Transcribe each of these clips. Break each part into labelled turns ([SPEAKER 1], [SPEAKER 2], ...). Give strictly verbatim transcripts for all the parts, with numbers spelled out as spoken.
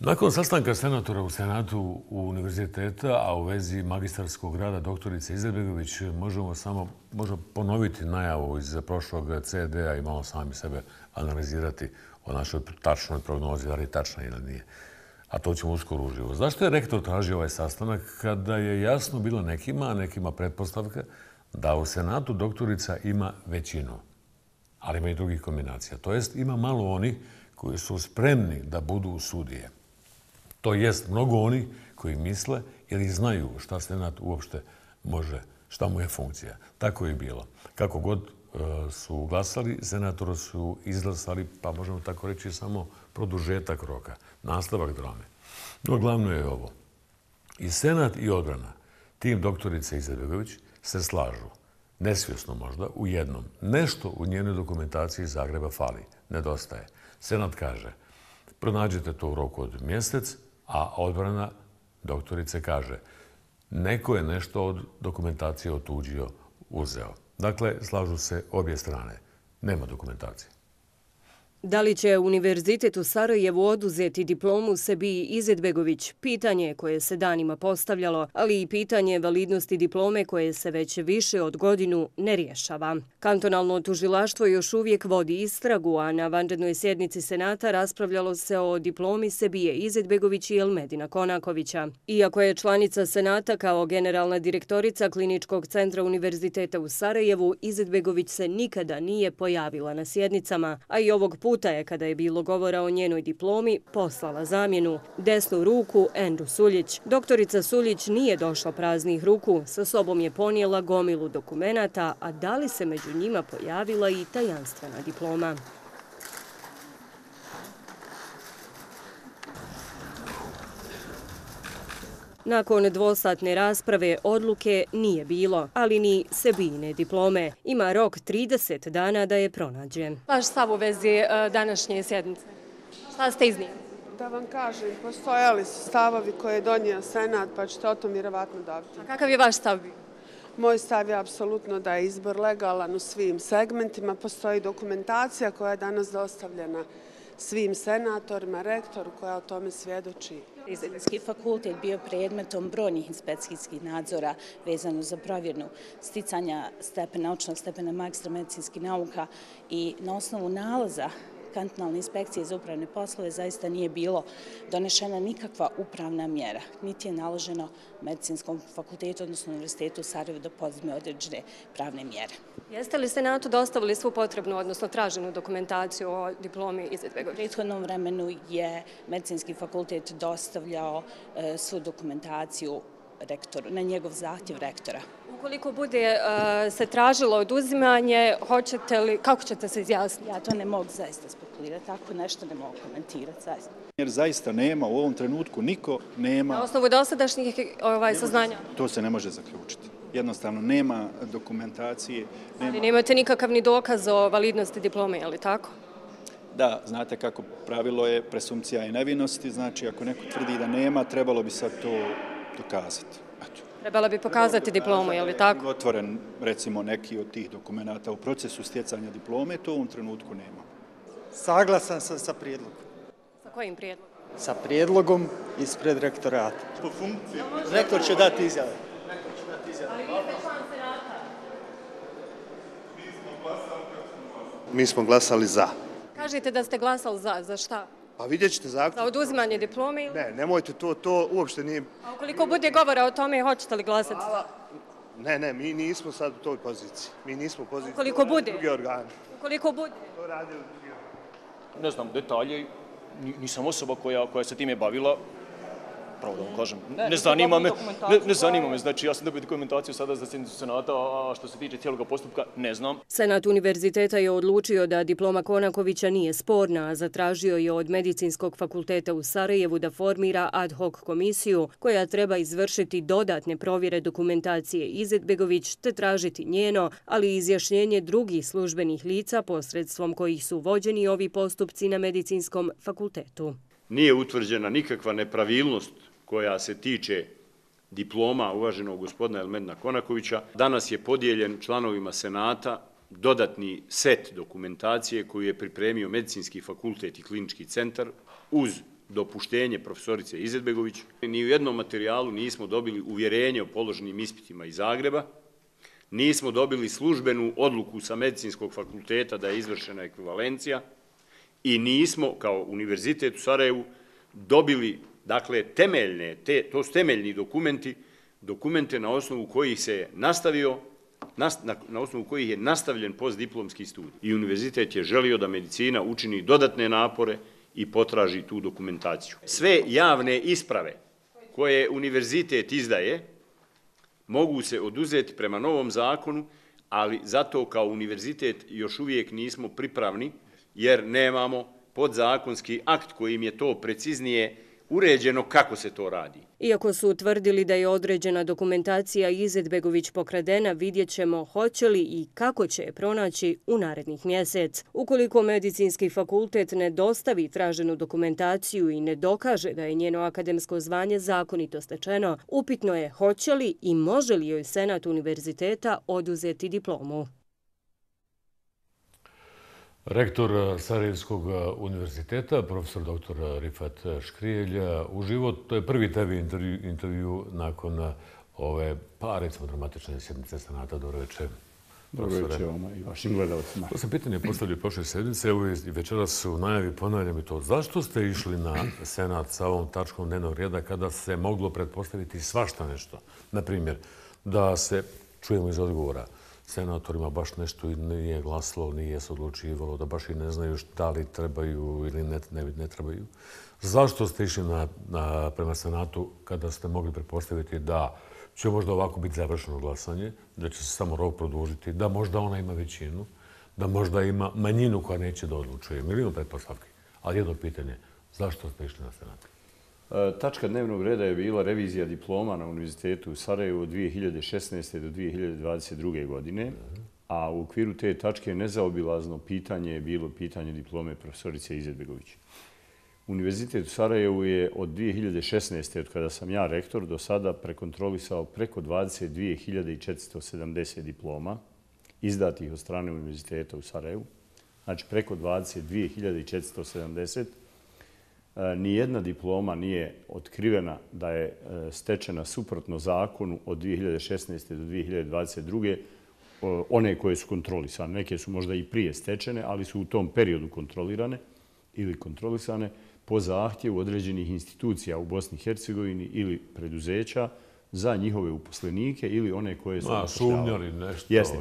[SPEAKER 1] Nakon sastanka senatora u Senatu univerziteta, a u vezi magistarskog rada doktorice Izetbegović, možemo samo možemo ponoviti najavu iz prošlog C D-a i malo sami sebe analizirati o našoj tačnoj prognozi, da li je tačna ili nije. A to ćemo uskoro uživo. Zašto je rektor tražio ovaj sastanak kada je jasno bilo nekima, a nekima pretpostavka, da u Senatu doktorica ima većinu, ali ima i drugih kombinacija. To jest, ima malo onih koji su spremni da budu sudije. To jest, mnogo onih koji misle ili znaju šta Senat uopšte može, šta mu je funkcija. Tako je bilo. Kako god su glasali, senatori su izglasali, pa možemo tako reći, samo produžetak roka, nastavak drame. No, glavno je ovo. I Senat i odbrana, tim doktorice Izetbegović, se slažu, nesvjesno možda, u jednom. Nešto u njenoj dokumentaciji iz Zagreba fali, nedostaje. Senat kaže, pronađete to u roku od mjesec, a odbrana doktorice kaže, neko je nešto od dokumentacije otuđio, uzeo. Dakle, slažu se obje strane. Nema dokumentacije.
[SPEAKER 2] Da li će Univerzitet u Sarajevu oduzeti diplomu Sebiji Izetbegović? Pitanje koje se danima postavljalo, ali i pitanje validnosti diplome koje se već više od godinu ne rješava. Kantonalno tužilaštvo još uvijek vodi istragu, a na vanrednoj sjednici Senata raspravljalo se o diplomi Sebije Izetbegović i Elmedina Konakovića. Iako je članica Senata kao generalna direktorica Kliničkog centra Univerziteta u Sarajevu, Izetbegović se nikada nije pojavila na sjednicama, a i ovog puta je, kada je bilo govora o njenoj diplomi, poslala zamjenu, desnu ruku Endu Suljić. Doktorica Suljić nije došla praznih ruku, sa sobom je ponijela gomilu dokumenata, a da li se među njima pojavila i tajanstvena diploma? Nakon dvosatne rasprave odluke nije bilo, ali ni Sebijine diplome. Ima rok trideset dana da je pronađe.
[SPEAKER 3] Vaš stav u vezi današnje sjednice? Šta ste iznijeli?
[SPEAKER 4] Da vam kažem, postojali su stavovi koje je donio Senat, pa ćete o tom vjerovatno dobiti.
[SPEAKER 3] A kakav je vaš stav bio?
[SPEAKER 4] Moj stav je apsolutno da je izbor legalan u svim segmentima. Postoji dokumentacija koja je danas dostavljena svim senatorima, rektoru koja o tome svjedoči.
[SPEAKER 5] Medicinski fakultet bio predmetom brojnih inspekcijskih nadzora vezano za provjernu sticanja stepena, naučnog stepena magistra medicinskih nauka i na osnovu nalaza kantonalne inspekcije za upravne poslove zaista nije bilo donešena nikakva upravna mjera, niti je naloženo Medicinskom fakultetu, odnosno Univerzitetu u Sarajevu da poduzme određene pravne mjere.
[SPEAKER 3] Jeste li Senatu dostavili svu potrebnu, odnosno traženu dokumentaciju o diplomi Izetbegović?
[SPEAKER 5] U prethodnom vremenu je Medicinski fakultet dostavljao svu dokumentaciju rektoru, na njegov zahtjev rektora.
[SPEAKER 3] Ukoliko bude se tražilo oduzimanje, hoćete li, kako ćete se izjasniti?
[SPEAKER 5] Ja to ne mogu zaista spekulirati, tako nešto ne mogu komentirati zaista.
[SPEAKER 6] Jer zaista nema, u ovom trenutku niko nema...
[SPEAKER 3] Na osnovu dosadašnjih saznanja?
[SPEAKER 6] To se ne može zaključiti. Jednostavno nema dokumentacije.
[SPEAKER 3] Ali nemate nikakav ni dokaz o validnosti diplome, je li tako?
[SPEAKER 6] Da, znate kako pravilo je presumpcija i nevinosti, znači ako neko tvrdi da nema, trebalo bi sad to dokazati.
[SPEAKER 3] Trebala bi pokazati diplomu, je li tako?
[SPEAKER 6] Otvoren, recimo, neki od tih dokumenta u procesu stjecanja diplome, to u ovom trenutku nema.
[SPEAKER 7] Saglasan sam sa prijedlogom.
[SPEAKER 3] Sa kojim prijedlogom?
[SPEAKER 7] Sa prijedlogom ispred rektorata.
[SPEAKER 6] Po funkciji.
[SPEAKER 7] Rektor će dati izjave.
[SPEAKER 3] Ali vi ste član Senata.
[SPEAKER 8] Mi smo glasali za.
[SPEAKER 3] Kažete da ste glasali za, za šta?
[SPEAKER 8] Pa vidjet ćete zaključno.
[SPEAKER 3] Za oduzimanje diplome ili?
[SPEAKER 8] Ne, nemojte, to, to uopšte nije...
[SPEAKER 3] A ukoliko bude govora o tome, hoćete li glasati za?
[SPEAKER 8] Ne, ne, mi nismo sad u toj poziciji. Mi nismo u poziciji.
[SPEAKER 3] Ukoliko bude?
[SPEAKER 8] Drugi organi.
[SPEAKER 3] Ukoliko bude?
[SPEAKER 8] To radi drugi organi.
[SPEAKER 9] Ne znam detalje, nisam osoba koja, koja se time bavila. Pravo da vam kažem, ne, ne zanima me, ne, ne zanima me, znači ja sam dobio dokumentaciju sada za sjednicu Senata, a što se tiče cijelog postupka, ne znam.
[SPEAKER 2] Senat univerziteta je odlučio da diploma Konakovića nije sporna, a zatražio je od Medicinskog fakulteta u Sarajevu da formira ad hoc komisiju koja treba izvršiti dodatne provjere dokumentacije Izetbegović te tražiti njeno, ali i izjašnjenje drugih službenih lica posredstvom kojih su vođeni ovi postupci na Medicinskom fakultetu.
[SPEAKER 10] Nije utvrđena nikakva nepravilnost koja se tiče diploma uvaženog gospodina Elmedina Konakovića. Danas je podijeljen članovima Senata dodatni set dokumentacije koju je pripremio Medicinski fakultet i Klinički centar uz dopuštenje profesorice Izetbegović. Ni u jednom materijalu nismo dobili uvjerenje o položenim ispitima iz Zagreba, nismo dobili službenu odluku sa medicinskog fakulteta da je izvršena ekvivalencija i nismo, kao Univerzitet u Sarajevu, dobili, dakle, temeljne, te, to su temeljni dokumenti, dokumente na osnovu kojih se nastavio, na, na osnovu kojih je nastavljen postdiplomski studij. I univerzitet je želio da medicina učini dodatne napore i potraži tu dokumentaciju. Sve javne isprave koje univerzitet izdaje mogu se oduzeti prema novom zakonu, ali zato kao univerzitet još uvijek nismo pripravni, jer nemamo podzakonski akt kojim je to preciznije uređeno kako se to radi.
[SPEAKER 2] Iako su utvrdili da je određena dokumentacija Izetbegović pokradena, vidjet ćemo hoće li i kako će je pronaći u narednih mjesec. Ukoliko medicinski fakultet ne dostavi traženu dokumentaciju i ne dokaže da je njeno akademsko zvanje zakonito stečeno, upitno je hoće li i može li joj Senat univerziteta oduzeti diplomu.
[SPEAKER 1] Rektor Sarajevskog univerziteta, profesor doktor Rifat Škrijelj, uživo, to je prvi tebi intervju, intervju nakon ove, pa recimo, dramatične sjednice Senata. Dobro večer.
[SPEAKER 11] Dobro večer vama i vašim gledalcima.
[SPEAKER 1] To sam pitanje postavljio prošle sedmice, evo i večeras u najavi ponavljam i to. Zašto ste išli na Senat sa ovom tačkom dnevnog reda kada se moglo pretpostaviti svašta nešto? Naprimjer, da se, čujemo iz odgovora, senatorima baš nešto nije glasilo, nije se odlučivalo, da baš i ne znaju šta li trebaju ili ne, ne, ne trebaju. Zašto ste išli na, na, prema Senatu kada ste mogli pretpostaviti da će možda ovako biti završeno glasanje, da će se samo rok produžiti, da možda ona ima većinu, da možda ima manjinu koja neće da odlučuje. Milijon pretpostavki. Ali jedno pitanje, zašto ste išli na Senat?
[SPEAKER 11] Tačka dnevnog reda je bila revizija diploma na Univerzitetu u Sarajevu od dvije hiljade šesnaeste do dvije hiljade dvadeset druge. godine, a u okviru te tačke nezaobilazno pitanje je bilo pitanje diplome profesorice Izetbegović. Univerzitet u Sarajevu je od dvije hiljade šesnaeste. od kada sam ja rektor, do sada prekontrolisao preko dvadeset dvije hiljade četiristo sedamdeset diploma izdatih od strane Univerziteta u Sarajevu. Znači preko dvadeset dvije hiljade četiristo sedamdeset. Nijedna diploma nije otkrivena da je stečena suprotno zakonu od dvije hiljade šesnaeste. do dvije hiljade dvadeset druge. One koje su kontrolisane. Neke su možda i prije stečene, ali su u tom periodu kontrolirane ili kontrolisane po zahtjevu određenih institucija u Bosni i Hercegovini ili preduzeća za njihove uposlenike ili one koje su...
[SPEAKER 1] A, sumnjali nešto.
[SPEAKER 11] Jeste.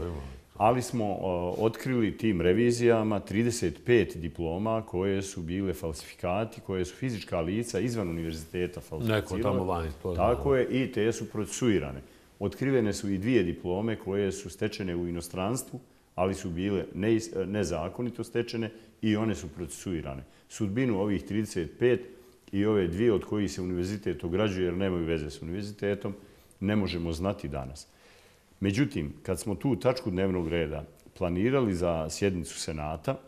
[SPEAKER 11] Ali smo otkrili tim revizijama trideset pet diploma koje su bile falsifikati, koje su fizička lica izvan univerziteta falsificirale.
[SPEAKER 1] Neko tamo vani.
[SPEAKER 11] Tako je, i te su procesuirane. Otkrivene su i dvije diplome koje su stečene u inostranstvu, ali su bile nezakonito stečene i one su procesuirane. Sudbinu ovih trideset pet i ove dvije od kojih se univerzitet ograđuje jer nemaju veze s univerzitetom, ne možemo znati danas. Međutim, kad smo tu tačku dnevnog reda planirali za sjednicu Senata,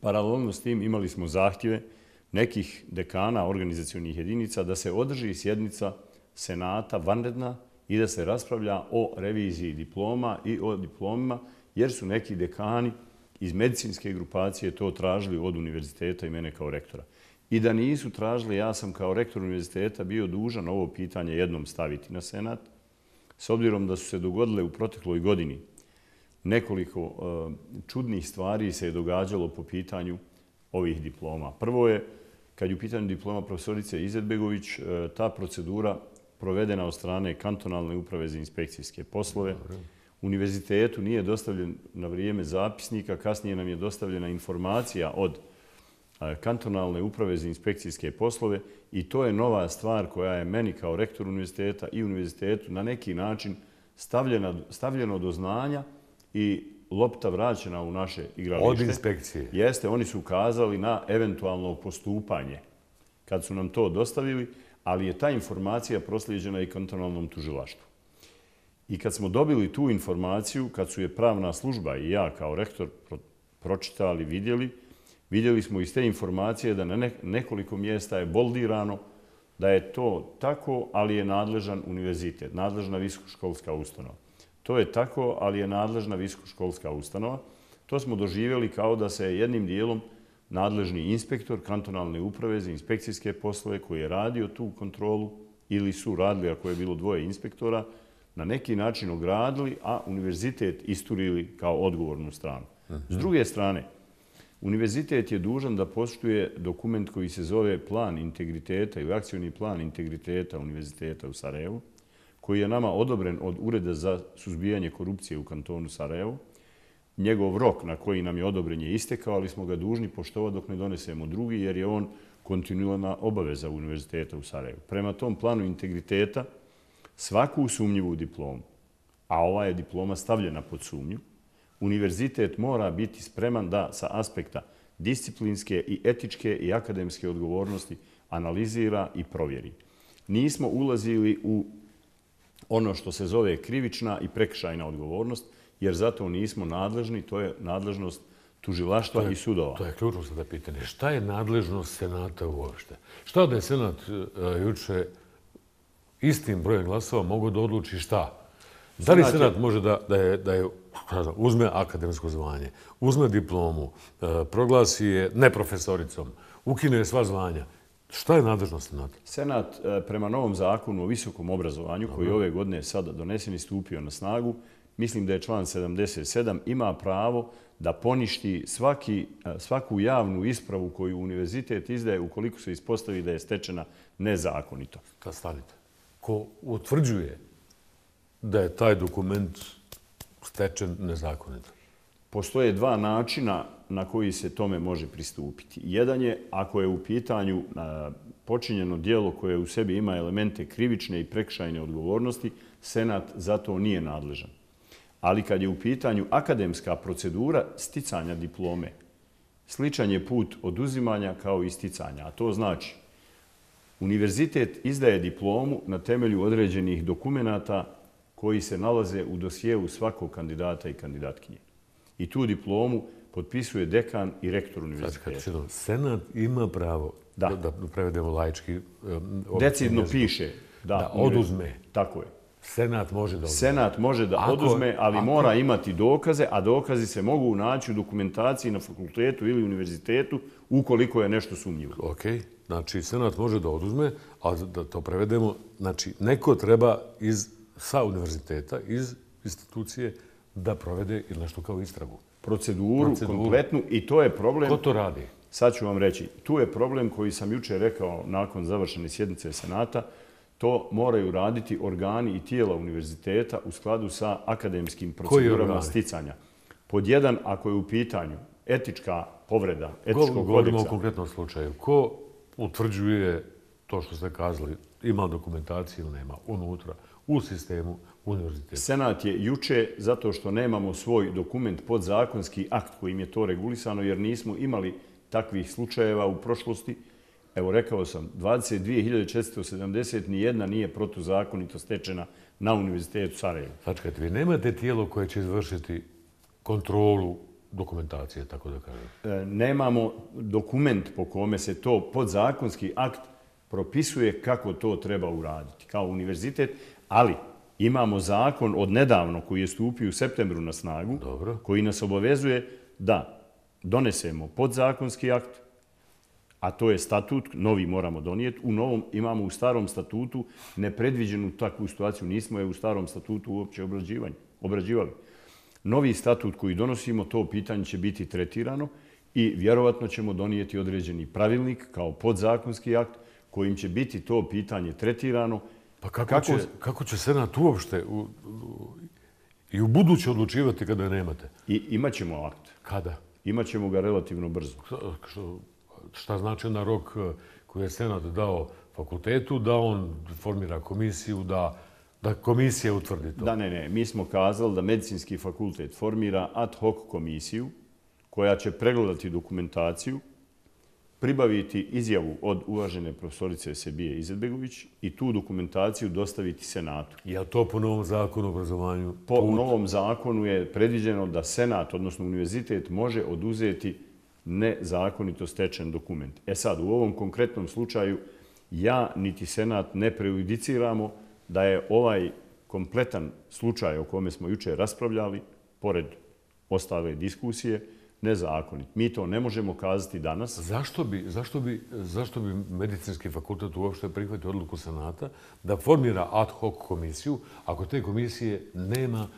[SPEAKER 11] paralelno s tim imali smo zahtjeve nekih dekana organizacionih jedinica da se održi sjednica Senata vanredna i da se raspravlja o reviziji diploma i o diplomima, jer su neki dekani iz medicinske grupacije to tražili od univerziteta i mene kao rektora. I da nisu tražili, ja sam kao rektor univerziteta bio dužan ovo pitanje jednom staviti na Senat, s obzirom da su se dogodile u protekloj godini nekoliko uh, čudnih stvari se je događalo po pitanju ovih diploma. Prvo je, kad je u pitanju diploma profesorice Izetbegović, uh, ta procedura provedena od strane kantonalne uprave za inspekcijske poslove. Univerzitetu nije dostavljen na vrijeme zapisnika, kasnije nam je dostavljena informacija od kantonalne uprave za inspekcijske poslove i to je nova stvar koja je meni kao rektor univerziteta i univerzitetu na neki način stavljena, stavljeno do znanja i lopta vraćena u naše igralište.
[SPEAKER 1] Od inspekcije?
[SPEAKER 11] Jeste, oni su ukazali na eventualno postupanje kad su nam to dostavili, ali je ta informacija proslijeđena i kantonalnom tužilaštvu. I kad smo dobili tu informaciju, kad su je pravna služba i ja kao rektor pročitali, vidjeli, vidjeli smo iz te informacije da na nekoliko mjesta je boldirano da je to tako, ali je nadležan univerzitet, nadležna visokoškolska ustanova. To je tako, ali je nadležna visokoškolska ustanova. To smo doživjeli kao da se jednim dijelom nadležni inspektor kantonalne uprave za inspekcijske poslove koji je radio tu kontrolu ili su radili, ako je bilo dvoje inspektora, na neki način ogradili, a univerzitet isturili kao odgovornu stranu. S druge strane, univerzitet je dužan da poštuje dokument koji se zove plan integriteta ili akcioni plan integriteta Univerziteta u Sarajevu, koji je nama odobren od Ureda za suzbijanje korupcije u kantonu Sarajevo. Njegov rok na koji nam je odobren je istekao, ali smo ga dužni poštovati dok ne donesemo drugi, jer je on kontinualna obaveza Univerziteta u Sarajevu. Prema tom planu integriteta, svaku sumnjivu diplomu, a ova je diploma stavljena pod sumnju, univerzitet mora biti spreman da sa aspekta disciplinske i etičke i akademske odgovornosti analizira i provjeri. Nismo ulazili u ono što se zove krivična i prekršajna odgovornost, jer zato nismo nadležni, to je nadležnost tužilaštva i sudova.
[SPEAKER 1] To je ključno sada pitanje. Šta je nadležnost Senata uopšte? Šta da je Senat juče istim brojem glasova mogu da odluči šta? Da li Senat može da je uzme akademsko zvanje, uzme diplomu, proglasi je neprofesoricom, ukine sva zvanja? Šta je nadležnost Senata?
[SPEAKER 11] Senat prema novom zakonu o visokom obrazovanju, koji ove godine sada donesen i stupio na snagu, mislim da je član sedamdeset sedam, ima pravo da poništi svaki, svaku javnu ispravu koju univerzitet izdaje ukoliko se ispostavi da je stečena nezakonito.
[SPEAKER 1] Kad stanite, ko utvrđuje da je taj dokument stečen nezakonito?
[SPEAKER 11] Postoje dva načina na koji se tome može pristupiti. Jedan je ako je u pitanju počinjeno djelo koje u sebi ima elemente krivične i prekršajne odgovornosti, Senat za to nije nadležan. Ali kad je u pitanju akademska procedura sticanja diplome, sličan je put oduzimanja kao i sticanja. A to znači, univerzitet izdaje diplomu na temelju određenih dokumenata koji se nalaze u dosjeu svakog kandidata i kandidatkinje. I tu diplomu potpisuje dekan i rektor univerziteta.
[SPEAKER 1] Senat ima pravo, da prevedemo laički,
[SPEAKER 11] decidno piše
[SPEAKER 1] da oduzme.
[SPEAKER 11] Tako je.
[SPEAKER 1] Senat može da oduzme.
[SPEAKER 11] Senat može da oduzme, ali mora imati dokaze, a dokazi se mogu naći u dokumentaciji na fakultetu ili univerzitetu ukoliko je nešto sumnjivo.
[SPEAKER 1] Ok, znači Senat može da oduzme, a da to prevedemo, znači neko treba iz, sa univerziteta, iz institucije, da provede ili nešto kao istragu.
[SPEAKER 11] Proceduru, Proceduru kompletnu, i to je problem...
[SPEAKER 1] Ko to radi?
[SPEAKER 11] Sad ću vam reći, tu je problem koji sam juče rekao nakon završene sjednice Senata. To moraju raditi organi i tijela univerziteta u skladu sa akademskim procedurama sticanja. Pod jedan, ako je u pitanju etička povreda, etičkog kodeksa...
[SPEAKER 1] Govorimo o konkretnom slučaju. Ko utvrđuje to što ste kazali, ima dokumentaciju ili nema, unutra, u sistemu univerziteta?
[SPEAKER 11] Senat je juče, zato što nemamo svoj dokument, podzakonski akt kojim je to regulisano, jer nismo imali takvih slučajeva u prošlosti. Evo, rekao sam, dvadeset dvije hiljade četiristo sedamdeset nijedna nije protuzakonito stečena na Univerzitetu Sarajevo.
[SPEAKER 1] Sačekajte, vi nemate tijelo koje će izvršiti kontrolu dokumentacije, tako da kažem?
[SPEAKER 11] Nemamo dokument po kome se to podzakonski akt propisuje kako to treba uraditi kao univerzitet, ali imamo zakon od nedavno koji je stupio u septembru na snagu,
[SPEAKER 1] Dobro.
[SPEAKER 11] koji nas obavezuje da donesemo podzakonski akt, a to je statut, novi moramo donijeti. U novom imamo u starom statutu nepredviđenu takvu situaciju. Nismo je u starom statutu uopće obrađivali. Novi statut koji donosimo, to pitanje će biti tretirano i vjerovatno ćemo donijeti određeni pravilnik kao podzakonski akt kojim će biti to pitanje tretirano.
[SPEAKER 1] Pa kako, kako... će, kako će Senat uopšte u, u, i u buduće odlučivati kada je nemate?
[SPEAKER 11] I imaćemo akt.
[SPEAKER 1] Kada?
[SPEAKER 11] Imaćemo ga relativno brzo.
[SPEAKER 1] Što, šta znači na rok koji je Senat dao fakultetu, da on formira komisiju, da, da komisija utvrdi to?
[SPEAKER 11] Da, ne, ne. Mi smo kazali da medicinski fakultet formira ad hoc komisiju koja će pregledati dokumentaciju, pribaviti izjavu od uvažene profesorice Sebije Izetbegović i tu dokumentaciju dostaviti Senatu.
[SPEAKER 1] Je to po novom zakonu o obrazovanju?
[SPEAKER 11] Po put? novom zakonu je predviđeno da Senat, odnosno univerzitet, može oduzeti nezakonito stečen dokument. E sad, u ovom konkretnom slučaju, ja niti Senat ne prejudiciramo da je ovaj kompletan slučaj o kome smo juče raspravljali, pored ostale diskusije, nezakonit. Mi to ne možemo kazati danas.
[SPEAKER 1] Zašto bi, zašto bi, zašto bi medicinski fakultet uopšte prihvatio odluku Senata da formira ad hoc komisiju ako te komisije nema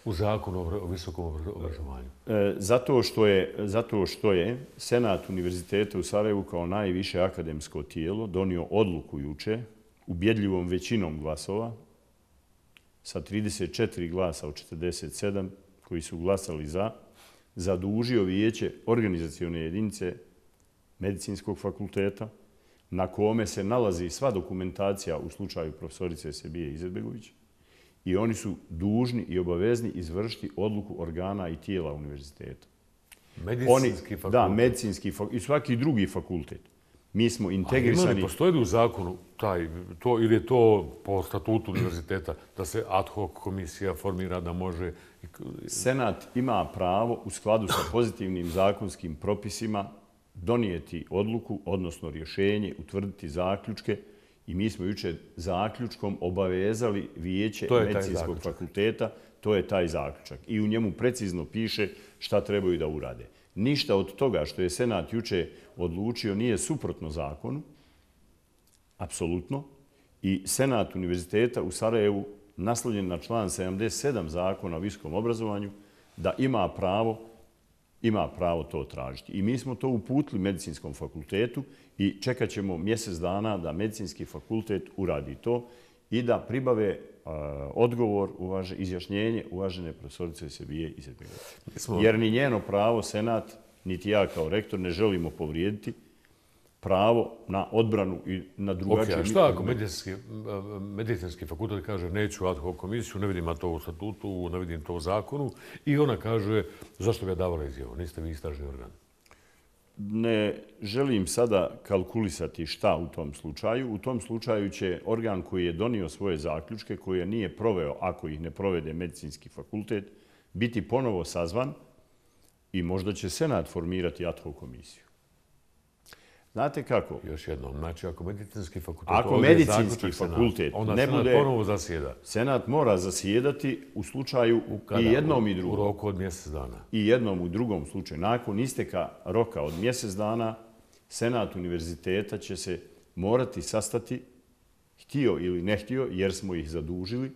[SPEAKER 1] u zakonu o visokom obrazovanju?
[SPEAKER 11] E, zato, što je, zato što je Senat Univerziteta u Sarajevu kao najviše akademsko tijelo donio odluku juče ubjedljivom većinom glasova sa trideset četiri glasa od četrdeset sedam koji su glasali za, zadužio vijeće organizacione jedinice medicinskog fakulteta na kome se nalazi sva dokumentacija u slučaju profesorice Sebije Izetbegović i oni su dužni i obavezni izvršiti odluku organa i tijela univerziteta.
[SPEAKER 1] Medicinski fakultet?
[SPEAKER 11] Da, medicinski fakultet i svaki drugi fakultet. Mi smo integrisani...
[SPEAKER 1] A ima li postoji u zakonu taj, to, ili je to po statutu univerziteta da se ad hoc komisija formira da može...
[SPEAKER 11] Senat ima pravo u skladu sa pozitivnim zakonskim propisima donijeti odluku, odnosno rješenje, utvrditi zaključke i mi smo juče zaključkom obavezali vijeće medicinskog fakulteta, to je taj zaključak. I u njemu precizno piše šta trebaju da urade. Ništa od toga što je Senat juče odlučio nije suprotno zakonu, apsolutno. I Senat Univerziteta u Sarajevu, naslonjen na član sedamdeset sedam zakona o visokom obrazovanju, da ima pravo, ima pravo to tražiti. I mi smo to uputili medicinskom fakultetu i čekat ćemo mjesec dana da medicinski fakultet uradi to i da pribave uh, odgovor, uvaže, izjašnjenje uvažene profesorice Sebije Izetbegović. Smo... Jer ni njeno pravo Senat, niti ja kao rektor ne želimo povrijediti pravo na odbranu i na drugačije...
[SPEAKER 1] Ok, a šta ako medicinski, medicinski fakultet kaže neću ad hoc komisiju, ne vidim to u statutu, ne vidim to u zakonu i ona kaže zašto ga je davala izjavu, niste vi istražni organ?
[SPEAKER 11] Ne želim sada kalkulisati šta u tom slučaju. U tom slučaju će organ koji je donio svoje zaključke, koji je nije proveo, ako ih ne provede medicinski fakultet, biti ponovo sazvan i možda će Senat formirati ad hoc komisiju. Znate kako?
[SPEAKER 1] Još jednom, znači ako medicinski fakultet...
[SPEAKER 11] Ako medicinski fakultet
[SPEAKER 1] onda
[SPEAKER 11] ne
[SPEAKER 1] Senat
[SPEAKER 11] bude...
[SPEAKER 1] ponovo zasjeda.
[SPEAKER 11] Senat mora zasjedati u slučaju i jednom i drugom.
[SPEAKER 1] U roku od mjesec dana.
[SPEAKER 11] I jednom u drugom slučaju. Nakon isteka roka od mjesec dana, Senat univerziteta će se morati sastati, htio ili ne htio, jer smo ih zadužili.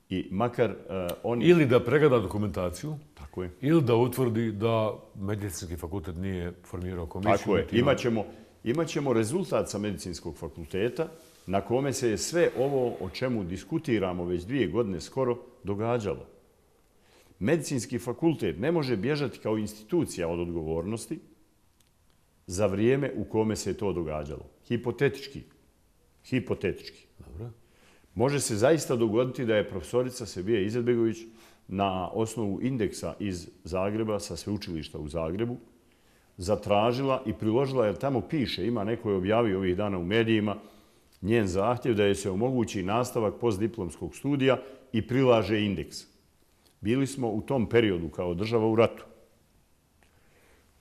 [SPEAKER 11] I makar uh, oni...
[SPEAKER 1] Ili da pregleda dokumentaciju.
[SPEAKER 11] Tako je.
[SPEAKER 1] Ili da utvrdi da medicinski fakultet nije formirao komisiju.
[SPEAKER 11] Tako je. Imaćemo... Imaćemo rezultat sa medicinskog fakulteta na kome se je sve ovo o čemu diskutiramo već dvije godine skoro događalo. Medicinski fakultet ne može bježati kao institucija od odgovornosti za vrijeme u kome se je to događalo. Hipotetički. Hipotetički.
[SPEAKER 1] Dobro.
[SPEAKER 11] Može se zaista dogoditi da je profesorica Sebije Izetbegović na osnovu indeksa iz Zagreba sa sveučilišta u Zagrebu zatražila i priložila, jer tamo piše, ima neko je objavio ovih dana u medijima, njen zahtjev da je se omogući nastavak postdiplomskog studija i prilaže indeks. Bili smo u tom periodu kao država u ratu.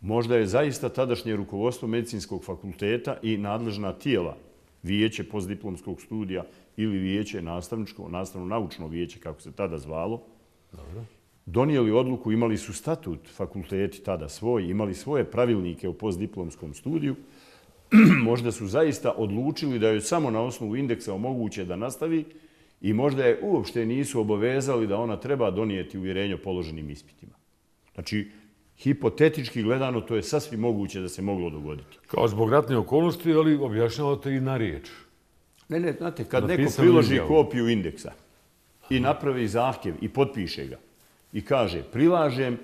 [SPEAKER 11] Možda je zaista tadašnje rukovodstvo medicinskog fakulteta i nadležna tijela, vijeće postdiplomskog studija ili vijeće nastavničko, nastavno-naučno vijeće, kako se tada zvalo, dobro, donijeli odluku, imali su statut fakulteti tada svoj, imali svoje pravilnike o postdiplomskom studiju, možda su zaista odlučili da joj samo na osnovu indeksa omoguće da nastavi i možda je uopšte nisu obavezali da ona treba donijeti uvjerenje o položenim ispitima. Znači, hipotetički gledano, to je sasvim moguće da se moglo dogoditi.
[SPEAKER 1] Kao zbog ratne okolnosti, ali objašnjavate i na riječ.
[SPEAKER 11] Ne, ne, znate, kad neko priloži kopiju indeksa i napravi zahtjev i potpiše ga, i kaže, prilažem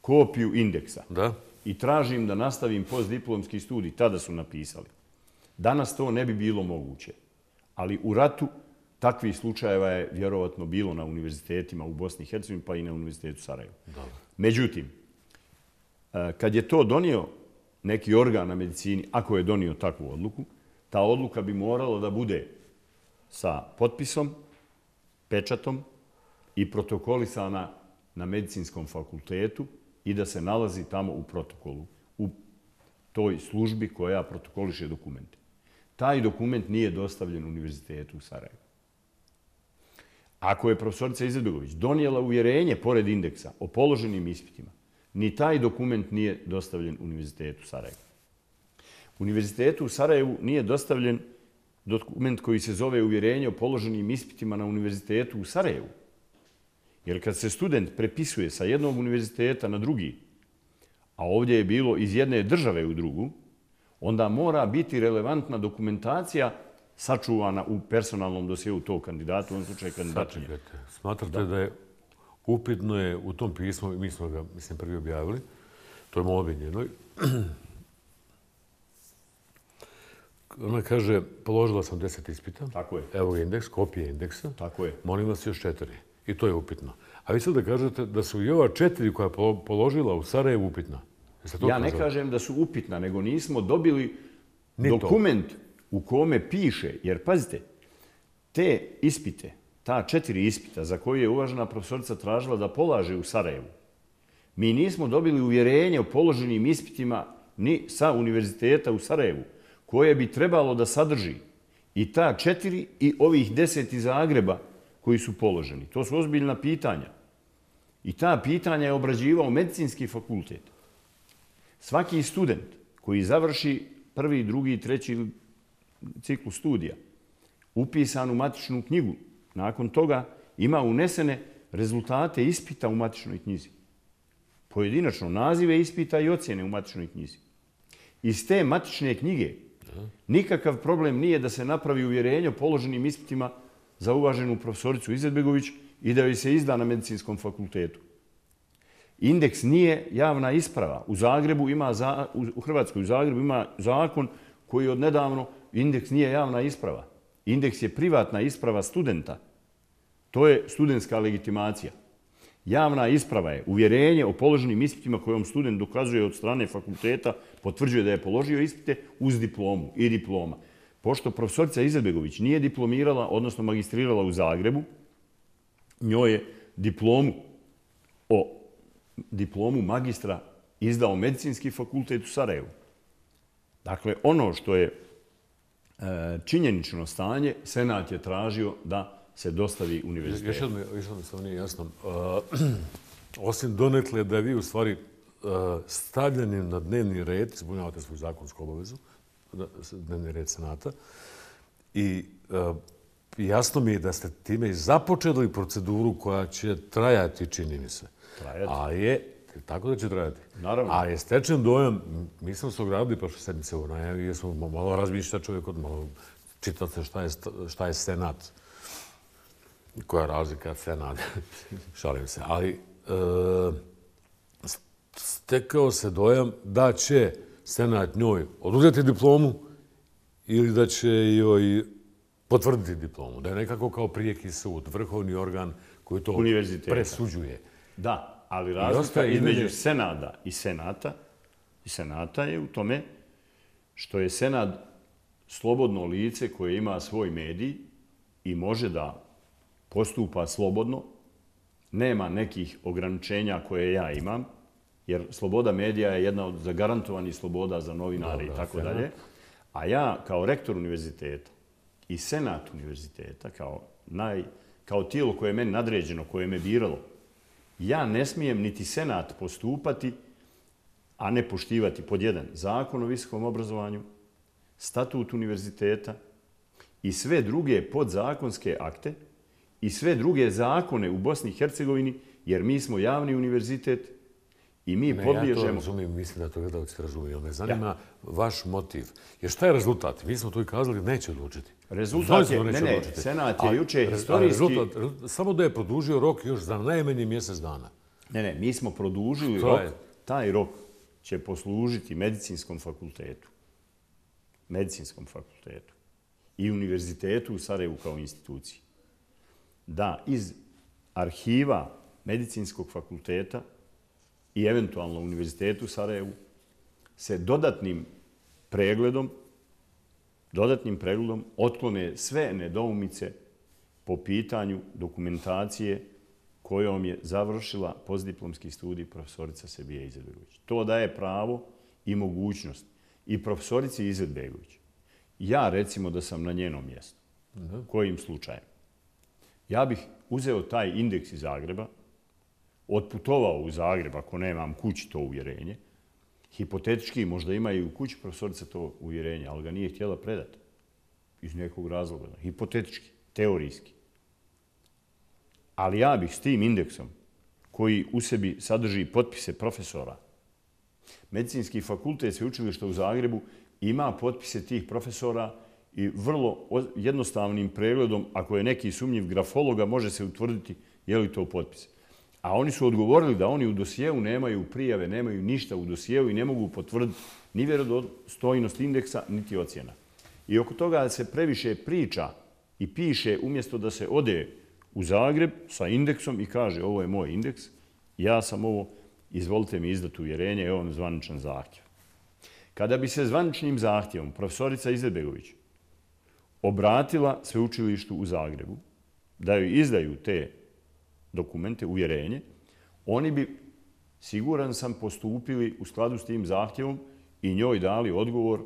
[SPEAKER 11] kopiju indeksa
[SPEAKER 1] da.
[SPEAKER 11] I tražim da nastavim postdiplomski studij, tada su napisali. Danas to ne bi bilo moguće. Ali u ratu takvih slučajeva je vjerovatno bilo na univerzitetima u Bosni i Hercegovini, pa i na univerzitetu Sarajevo.
[SPEAKER 1] Da.
[SPEAKER 11] Međutim, kad je to donio neki organ na medicini, ako je donio takvu odluku, ta odluka bi morala da bude sa potpisom, pečatom i protokolisana na medicinskom fakultetu i da se nalazi tamo u protokolu, u toj službi koja protokoliše dokumente. Taj dokument nije dostavljen Univerzitetu u Sarajevu. Ako je profesorica Izetbegović donijela uvjerenje pored indeksa o položenim ispitima, ni taj dokument nije dostavljen Univerzitetu Sarajevo. Univerzitetu u Sarajevu nije dostavljen dokument koji se zove uvjerenje o položenim ispitima na Univerzitetu u Sarajevu. Jer kad se student prepisuje sa jednog univerziteta na drugi, a ovdje je bilo iz jedne države u drugu, onda mora biti relevantna dokumentacija sačuvana u personalnom dosjeu tog kandidata, u ovom slučaju kandidatinje.
[SPEAKER 1] Smatrate da, da je upitno je u tom pismu, mi smo ga, mislim, prvi objavili, to je molbi njenoj, ona kaže, položila sam deset ispita.
[SPEAKER 11] Tako je.
[SPEAKER 1] Evo indeks, kopije indeksa.
[SPEAKER 11] Tako je.
[SPEAKER 1] Molim vas još četiri. I to je upitno. A vi sad da kažete da su i ova četiri koja je položila u Sarajevu upitna.
[SPEAKER 11] Ja ne kažem da su upitna, nego nismo dobili dokument u kome piše. Jer pazite, te ispite, ta četiri ispita za koje je uvažena profesorica tražila da polaže u Sarajevu, mi nismo dobili uvjerenje o položenim ispitima ni sa Univerziteta u Sarajevu, koje bi trebalo da sadrži i ta četiri i ovih deset iz Zagreba koji su položeni. To su ozbiljna pitanja. I ta pitanja je obrađivao medicinski fakultet. Svaki student koji završi prvi, drugi, treći ciklus studija, upisan u matičnu knjigu, nakon toga ima unesene rezultate ispita u matičnoj knjizi. Pojedinačno nazive ispita i ocjene u matičnoj knjizi. Iz te matične knjige nikakav problem nije da se napravi uvjerenje o položenim ispitima za uvaženu profesoricu Izetbegović i da joj se izda na medicinskom fakultetu. Indeks nije javna isprava. U Zagrebu ima, za, u Hrvatskoj u Zagrebu ima zakon koji od nedavno indeks nije javna isprava. Indeks je privatna isprava studenta. To je studentska legitimacija. Javna isprava je uvjerenje o položenim ispitima kojom student dokazuje od strane fakulteta, potvrđuje da je položio ispite uz diplomu i diploma. Pošto profesorica Izetbegović nije diplomirala, odnosno magistrirala u Zagrebu, njoj je diplomu o diplomu magistra izdao medicinski fakultet u Sarajevu. Dakle, ono što je e, činjenično stanje, Senat je tražio da se dostavi univerzitetu.
[SPEAKER 1] Još jedno, još jedno sam nije jasno. Uh, osim donekle da vi u stvari uh, stavljeni na dnevni red, ispunjavate svoju zakonsku obavezu, dnevni red Senata, i uh, jasno mi je da ste time i započeli proceduru koja će trajati, čini mi se.
[SPEAKER 11] Trajati.
[SPEAKER 1] A je, tako da će trajati.
[SPEAKER 11] Naravno.
[SPEAKER 1] A je stečen dojam, mi smo se ogradili prošle sedmice u najavi, jer smo malo razmišljati čovjek od malo čitati šta je, šta je Senat. Koja je razlika Senat, šalim se. Ali e, stekao se dojam da će Senat njoj oduzeti diplomu ili da će joj potvrditi diplomu. Da je nekako kao prijeki sud, vrhovni organ koji to presuđuje.
[SPEAKER 11] Da, ali razlika između Senada i Senata, i Senata je u tome što je Senat slobodno lice koje ima svoj medij i može da postupa slobodno, nema nekih ograničenja koje ja imam, jer sloboda medija je jedna od zagarantovanih sloboda za novinare i tako dalje. A ja kao rektor univerziteta i Senat univerziteta, kao, naj, kao tijelo koje je meni nadređeno, koje me biralo, ja ne smijem niti Senat postupati, a ne poštivati pod jedan zakon o visokom obrazovanju, statut univerziteta i sve druge podzakonske akte i sve druge zakone u Bosni i Hercegovini, jer mi smo javni univerzitet i mi
[SPEAKER 1] ne,
[SPEAKER 11] podliježemo...
[SPEAKER 1] Ja to razumijem, mislim da to gledalci razumiju. Me zanima ja. vaš motiv. Jer šta je rezultat? Mi smo to i kazali, neće odlučiti.
[SPEAKER 11] Rezultat je, ne, ne, odlučiti. Senat je a, juče historijski...
[SPEAKER 1] Rezultat, rezultat, samo da je produžio rok još za najmanje mjesec dana.
[SPEAKER 11] Ne, ne, mi smo produžili rok. Je? Taj rok će poslužiti medicinskom fakultetu. Medicinskom fakultetu. I univerzitetu u Sarajevu kao instituciji. Da iz arhiva medicinskog fakulteta i eventualno univerzitetu u Sarajevu se dodatnim pregledom, dodatnim pregledom otklone sve nedoumice po pitanju dokumentacije kojom je završila postdiplomski studij profesorica Sebija Izetbegović. To daje pravo i mogućnost i profesorici Izetbegović. Ja recimo da sam na njenom mjestu. Kojim slučajem? Ja bih uzeo taj indeks iz Zagreba, otputovao u Zagreb, ako nemam kući to uvjerenje, hipotetički možda ima i u kući profesorica to uvjerenje, ali ga nije htjela predati. Iz nekog razloga. Hipotetički, teorijski. Ali ja bih s tim indeksom, koji u sebi sadrži potpise profesora, Medicinski fakultet sveučilišta u Zagrebu ima potpise tih profesora i vrlo jednostavnim pregledom, ako je neki sumnjiv grafologa, može se utvrditi je li to potpis. A oni su odgovorili da oni u dosijevu nemaju prijave, nemaju ništa u dosijevu i ne mogu potvrditi ni vjerodostojnost indeksa, niti ocjena. I oko toga se previše priča i piše umjesto da se ode u Zagreb sa indeksom i kaže ovo je moj indeks, ja sam ovo, izvolite mi izdati uvjerenje, evo vam zvaničan zahtjev. Kada bi se zvaničnim zahtjevom profesorica Izetbegović obratila sveučilištu u Zagrebu da joj izdaju te dokumente, uvjerenje, oni bi, siguran sam, postupili u skladu s tim zahtjevom i njoj dali odgovor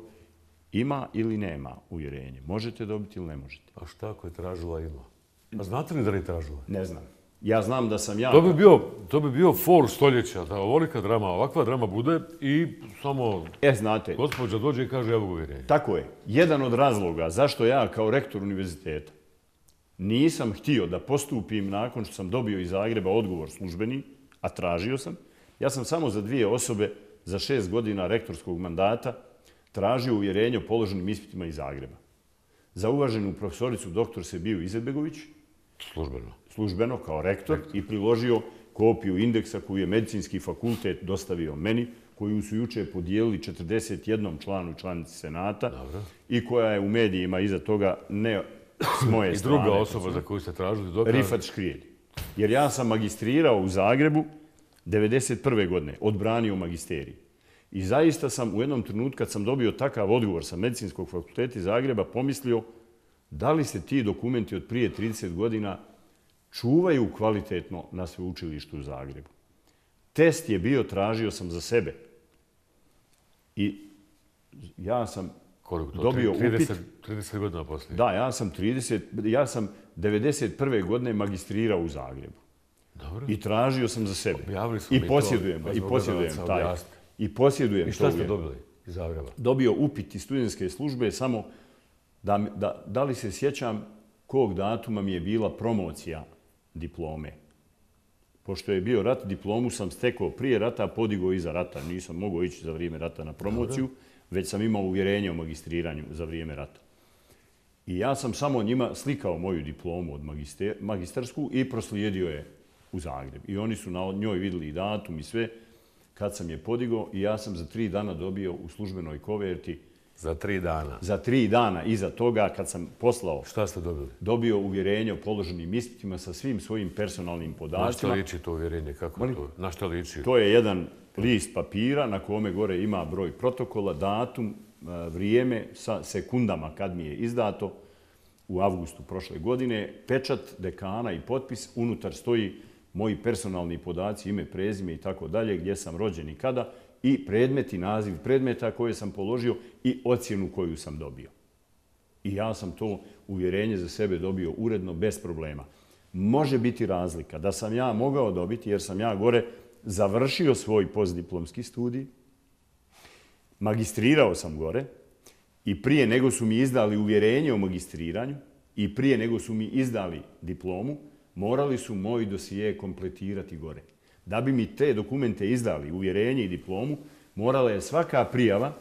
[SPEAKER 11] ima ili nema uvjerenje. Možete dobiti ili ne možete.
[SPEAKER 1] A šta ako je tražila ima? A znate li da li je tražila?
[SPEAKER 11] Ne znam. Ja znam da sam ja...
[SPEAKER 1] To bi bio, to bi bio for stoljeća, da ovolika drama, ovakva drama bude i samo
[SPEAKER 11] e, znate,
[SPEAKER 1] gospođa dođe i kaže evo uvjerenje.
[SPEAKER 11] Tako je. Jedan od razloga zašto ja kao rektor univerziteta nisam htio da postupim nakon što sam dobio iz Zagreba odgovor službeni, a tražio sam, ja sam samo za dvije osobe za šest godina rektorskog mandata tražio uvjerenje o položenim ispitima iz Zagreba. Za uvaženu profesoricu doktor Sebiju Izetbegović,
[SPEAKER 1] službeno,
[SPEAKER 11] službeno kao rektor, i priložio kopiju indeksa koju je Medicinski fakultet dostavio meni, koju su juče podijelili četrdeset jednom članu i članici Senata.
[SPEAKER 1] Dobro.
[SPEAKER 11] I koja je u medijima iza toga ne s moje
[SPEAKER 1] I
[SPEAKER 11] strane.
[SPEAKER 1] druga osoba za koju ste tražili dokaz?
[SPEAKER 11] Rifat Škrijelj. Jer ja sam magistrirao u Zagrebu devedeset prve godine, odbranio magisterij. I zaista sam u jednom trenutku kad sam dobio takav odgovor sa Medicinskog fakulteta iz Zagreba pomislio da li se ti dokumenti od prije trideset godina čuvaju kvalitetno na sveučilištu u Zagrebu. Test je bio, tražio sam za sebe. I ja sam dobio upit...
[SPEAKER 1] trideset godina poslije?
[SPEAKER 11] Da, ja sam, trideset, ja sam devedeset prve godine magistrirao u Zagrebu.
[SPEAKER 1] Dobro.
[SPEAKER 11] I tražio sam za sebe.
[SPEAKER 1] Objavili smo
[SPEAKER 11] I posjedujem ga. I posjedujem taj. I posjedujem
[SPEAKER 1] I šta ste dobili iz Zagreba?
[SPEAKER 11] Dobio upit iz studentske službe samo da, da, da li se sjećam kog datuma mi je bila promocija diplome. Pošto je bio rat, diplomu sam stekao prije rata, podigao iza rata. Nisam mogao ići za vrijeme rata na promociju, Dobre. Već sam imao uvjerenje o magistriranju za vrijeme rata. I ja sam samo njima slikao moju diplomu od magister, magistarsku i proslijedio je u Zagreb. I oni su na njoj vidjeli i datum i sve kad sam je podigao i ja sam za tri dana dobio u službenoj koverti.
[SPEAKER 1] Za tri dana?
[SPEAKER 11] Za tri dana iza toga kad sam poslao...
[SPEAKER 1] Šta ste dobili?
[SPEAKER 11] Dobio uvjerenje o položenim ispitima sa svim svojim personalnim podacima.
[SPEAKER 1] Na što liči to uvjerenje? Kako Mali? to? Na što liči?
[SPEAKER 11] To je jedan list papira na kome gore ima broj protokola, datum, vrijeme sa sekundama kad mi je izdato u avgustu prošle godine, pečat dekana i potpis, unutar stoji moji personalni podaci, ime, prezime i tako dalje, gdje sam rođen i kada, i predmeti, naziv predmeta koje sam položio i ocjenu koju sam dobio. I ja sam to uvjerenje za sebe dobio uredno, bez problema. Može biti razlika da sam ja mogao dobiti, jer sam ja gore završio svoj postdiplomski studij, magistrirao sam gore i prije nego su mi izdali uvjerenje o magistriranju i prije nego su mi izdali diplomu, morali su moji dosije kompletirati gore. Da bi mi te dokumente izdali, uvjerenje i diplomu, morala je svaka prijava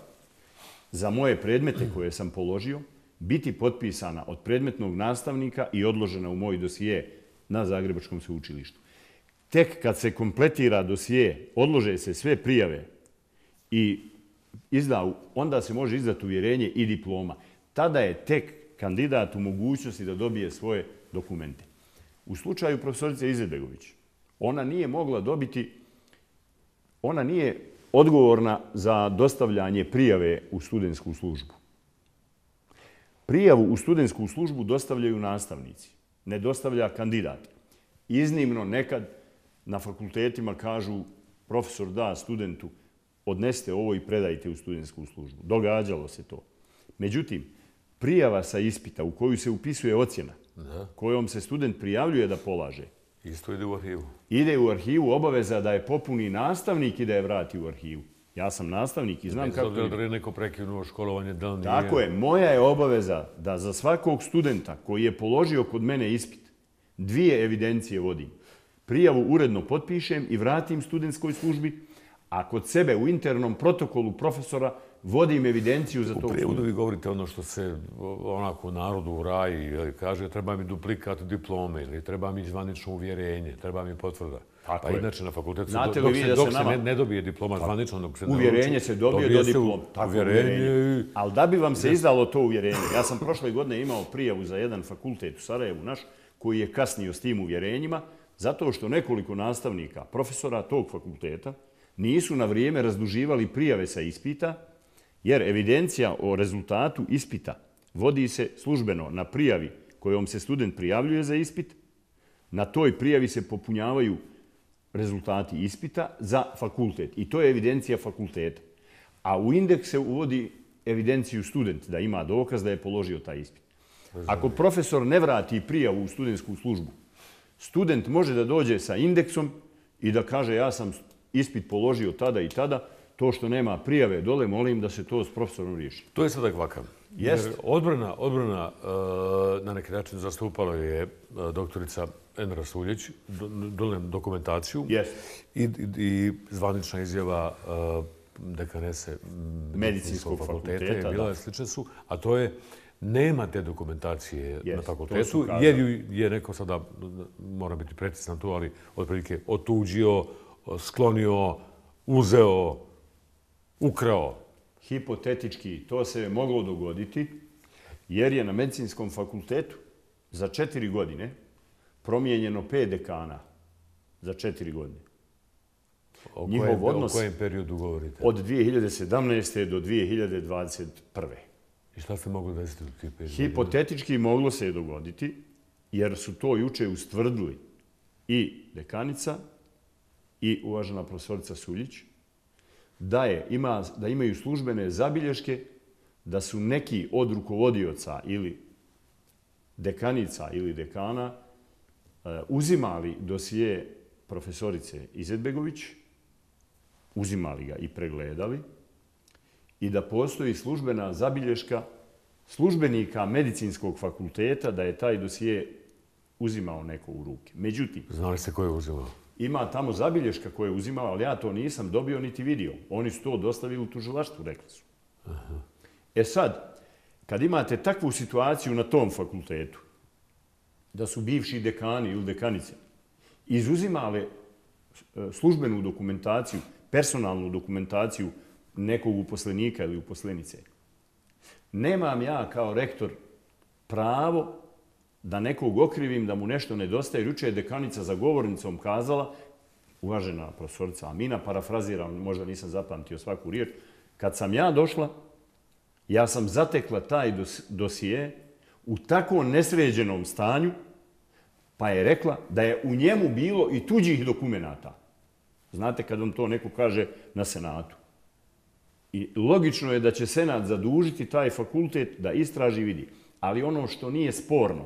[SPEAKER 11] za moje predmete koje sam položio biti potpisana od predmetnog nastavnika i odložena u moj dosije na Zagrebačkom sveučilištu. Tek kad se kompletira dosije, odlože se sve prijave i izda, onda se može izdati uvjerenje i diploma. Tada je tek kandidat u mogućnosti da dobije svoje dokumente. U slučaju profesorice Izetbegović, ona nije mogla dobiti, ona nije odgovorna za dostavljanje prijave u studentsku službu. Prijavu u studentsku službu dostavljaju nastavnici, ne dostavlja kandidat. Iznimno nekad na fakultetima kažu profesor da studentu odnesite ovo i predajte u studentsku službu. Događalo se to. Međutim, prijava sa ispita u koju se upisuje ocjena, da. Kojom se student prijavljuje da polaže,
[SPEAKER 1] Isto ide u arhivu.
[SPEAKER 11] Ide u arhivu, obaveza da je popuni nastavnik i da je vrati u arhivu. Ja sam nastavnik i znam kako...
[SPEAKER 1] Da je neko prekinuo školovanje, da li nije...
[SPEAKER 11] Tako je. Moja je obaveza da za svakog studenta koji je položio kod mene ispit, dvije evidencije vodim. Prijavu uredno potpišem i vratim studentskoj službi, a kod sebe u internom protokolu profesora vodim evidenciju za tog studenta.
[SPEAKER 1] U prijevodu vi govorite ono što se onako u narodu u raji kaže treba mi duplikat diplome ili treba mi zvanično uvjerenje, treba mi potvrda. Pa inače na fakultetu dok se ne dobije diploma zvanično, dok se ne nauči...
[SPEAKER 11] Uvjerenje se dobije do diplom. Uvjerenje. Ali da bi vam se izdalo to uvjerenje, ja sam prošle godine imao prijavu za jedan fakultet u Sarajevu naš, koji je kasnio s tim uvjerenjima, zato što nekoliko nastavnika, profesora tog fakulteta, nisu na vrijeme razduživali prijave sa ispita, jer evidencija o rezultatu ispita vodi se službeno na prijavi kojom se student prijavljuje za ispit. Na toj prijavi se popunjavaju rezultati ispita za fakultet. I to je evidencija fakulteta. A u indeks se uvodi evidenciju student, da ima dokaz da je položio taj ispit. Ako profesor ne vrati prijavu u studentsku službu, student može da dođe sa indeksom i da kaže ja sam ispit položio tada i tada, to što nema prijave dole, molim da se to s profesorom riješi.
[SPEAKER 1] To je sada kvaka. Jer odbrana, odbrana na neki način zastupala je doktorica Enra Suljić, dole dokumentaciju i, i zvanična izjava dekanese medicinskog fakulteta, bila je slične su, a to je nema te dokumentacije na fakultetu, jer ju je neko sada, mora biti precizan to, ali otprilike otuđio, sklonio, uzeo, ukrao.
[SPEAKER 11] Hipotetički to se moglo dogoditi, jer je na medicinskom fakultetu za četiri godine promijenjeno pet dekana za četiri godine.
[SPEAKER 1] O kojem, odnos o kojem periodu govorite?
[SPEAKER 11] Od dvije hiljade sedamnaeste. do dvije hiljade dvadeset prve.
[SPEAKER 1] I šta se moglo desiti u tih pet?
[SPEAKER 11] Hipotetički moglo se je dogoditi, jer su to juče ustvrdili i dekanica i uvažena profesorica Suljić, da, je, ima, da imaju službene zabilješke da su neki od rukovodioca ili dekanica ili dekana uzimali dosije profesorice Izetbegović, uzimali ga i pregledali i da postoji službena zabilješka službenika medicinskog fakulteta da je taj dosije uzimao neko u ruke. Međutim...
[SPEAKER 1] Znali ste ko je uzimao?
[SPEAKER 11] Ima tamo zabilješka koje je uzimao, ali ja to nisam dobio niti vidio. Oni su to dostavili u tužilaštvu, rekli su. Aha. E sad, kad imate takvu situaciju na tom fakultetu, da su bivši dekani ili dekanice izuzimale službenu dokumentaciju, personalnu dokumentaciju nekog uposlenika ili uposlenice, nemam ja kao rektor pravo da nekog okrivim, da mu nešto nedostaje. Juče je dekanica za govornicom kazala, uvažena profesorica Amina, parafraziram, možda nisam zapamtio svaku riječ, kad sam ja došla, ja sam zatekla taj dosije u tako nesređenom stanju, pa je rekla da je u njemu bilo i tuđih dokumenata. Znate kad vam to neko kaže na senatu. I logično je da će senat zadužiti taj fakultet da istraži i vidi. Ali ono što nije sporno,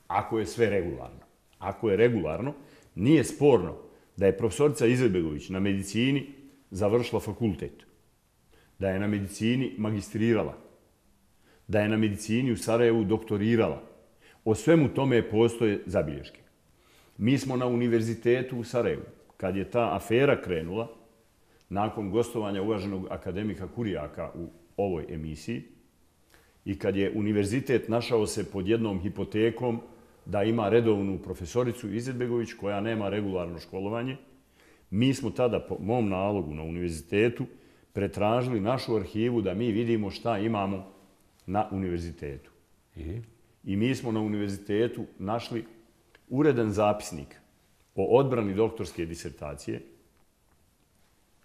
[SPEAKER 11] ako je sve regularno, ako je regularno, nije sporno da je profesorica Izetbegović na medicini završila fakultet, da je na medicini magistrirala, da je na medicini u Sarajevu doktorirala. O svemu tome postoje zabilješke. Mi smo na univerzitetu u Sarajevu, kad je ta afera krenula, nakon gostovanja uvaženog akademika Kurijaka u ovoj emisiji, i kad je univerzitet našao se pod jednom hipotekom da ima redovnu profesoricu Izetbegović koja nema regularno školovanje, mi smo tada po mom nalogu na univerzitetu pretražili našu arhivu da mi vidimo šta imamo na univerzitetu.
[SPEAKER 1] I?
[SPEAKER 11] I mi smo na univerzitetu našli uredan zapisnik o odbrani doktorske disertacije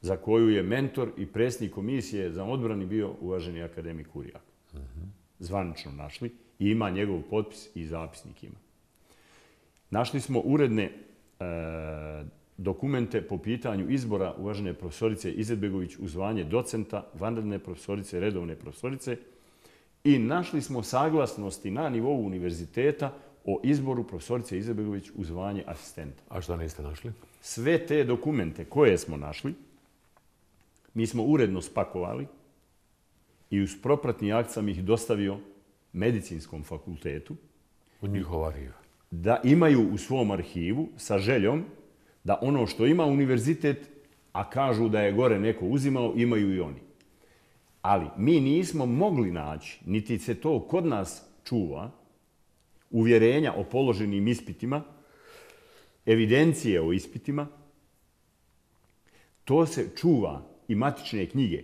[SPEAKER 11] za koju je mentor i predsjednik komisije za odbrani bio uvaženi akademik Kurijak. Zvanično našli i ima njegov potpis i zapisnik ima. Našli smo uredne e, dokumente po pitanju izbora uvažene profesorice Izetbegović u zvanje docenta, vanredne profesorice, redovne profesorice i našli smo saglasnosti na nivou univerziteta o izboru profesorice Izetbegović u zvanje asistenta.
[SPEAKER 1] A šta niste našli?
[SPEAKER 11] Sve te dokumente koje smo našli, mi smo uredno spakovali i uz propratni akt sam ih dostavio Medicinskom fakultetu.
[SPEAKER 1] U njihov arhiv.
[SPEAKER 11] Da imaju u svom arhivu sa željom da ono što ima univerzitet, a kažu da je gore neko uzimao, imaju i oni. Ali mi nismo mogli naći, niti se to kod nas čuva, uvjerenja o položenim ispitima, evidencije o ispitima. To se čuva i matične knjige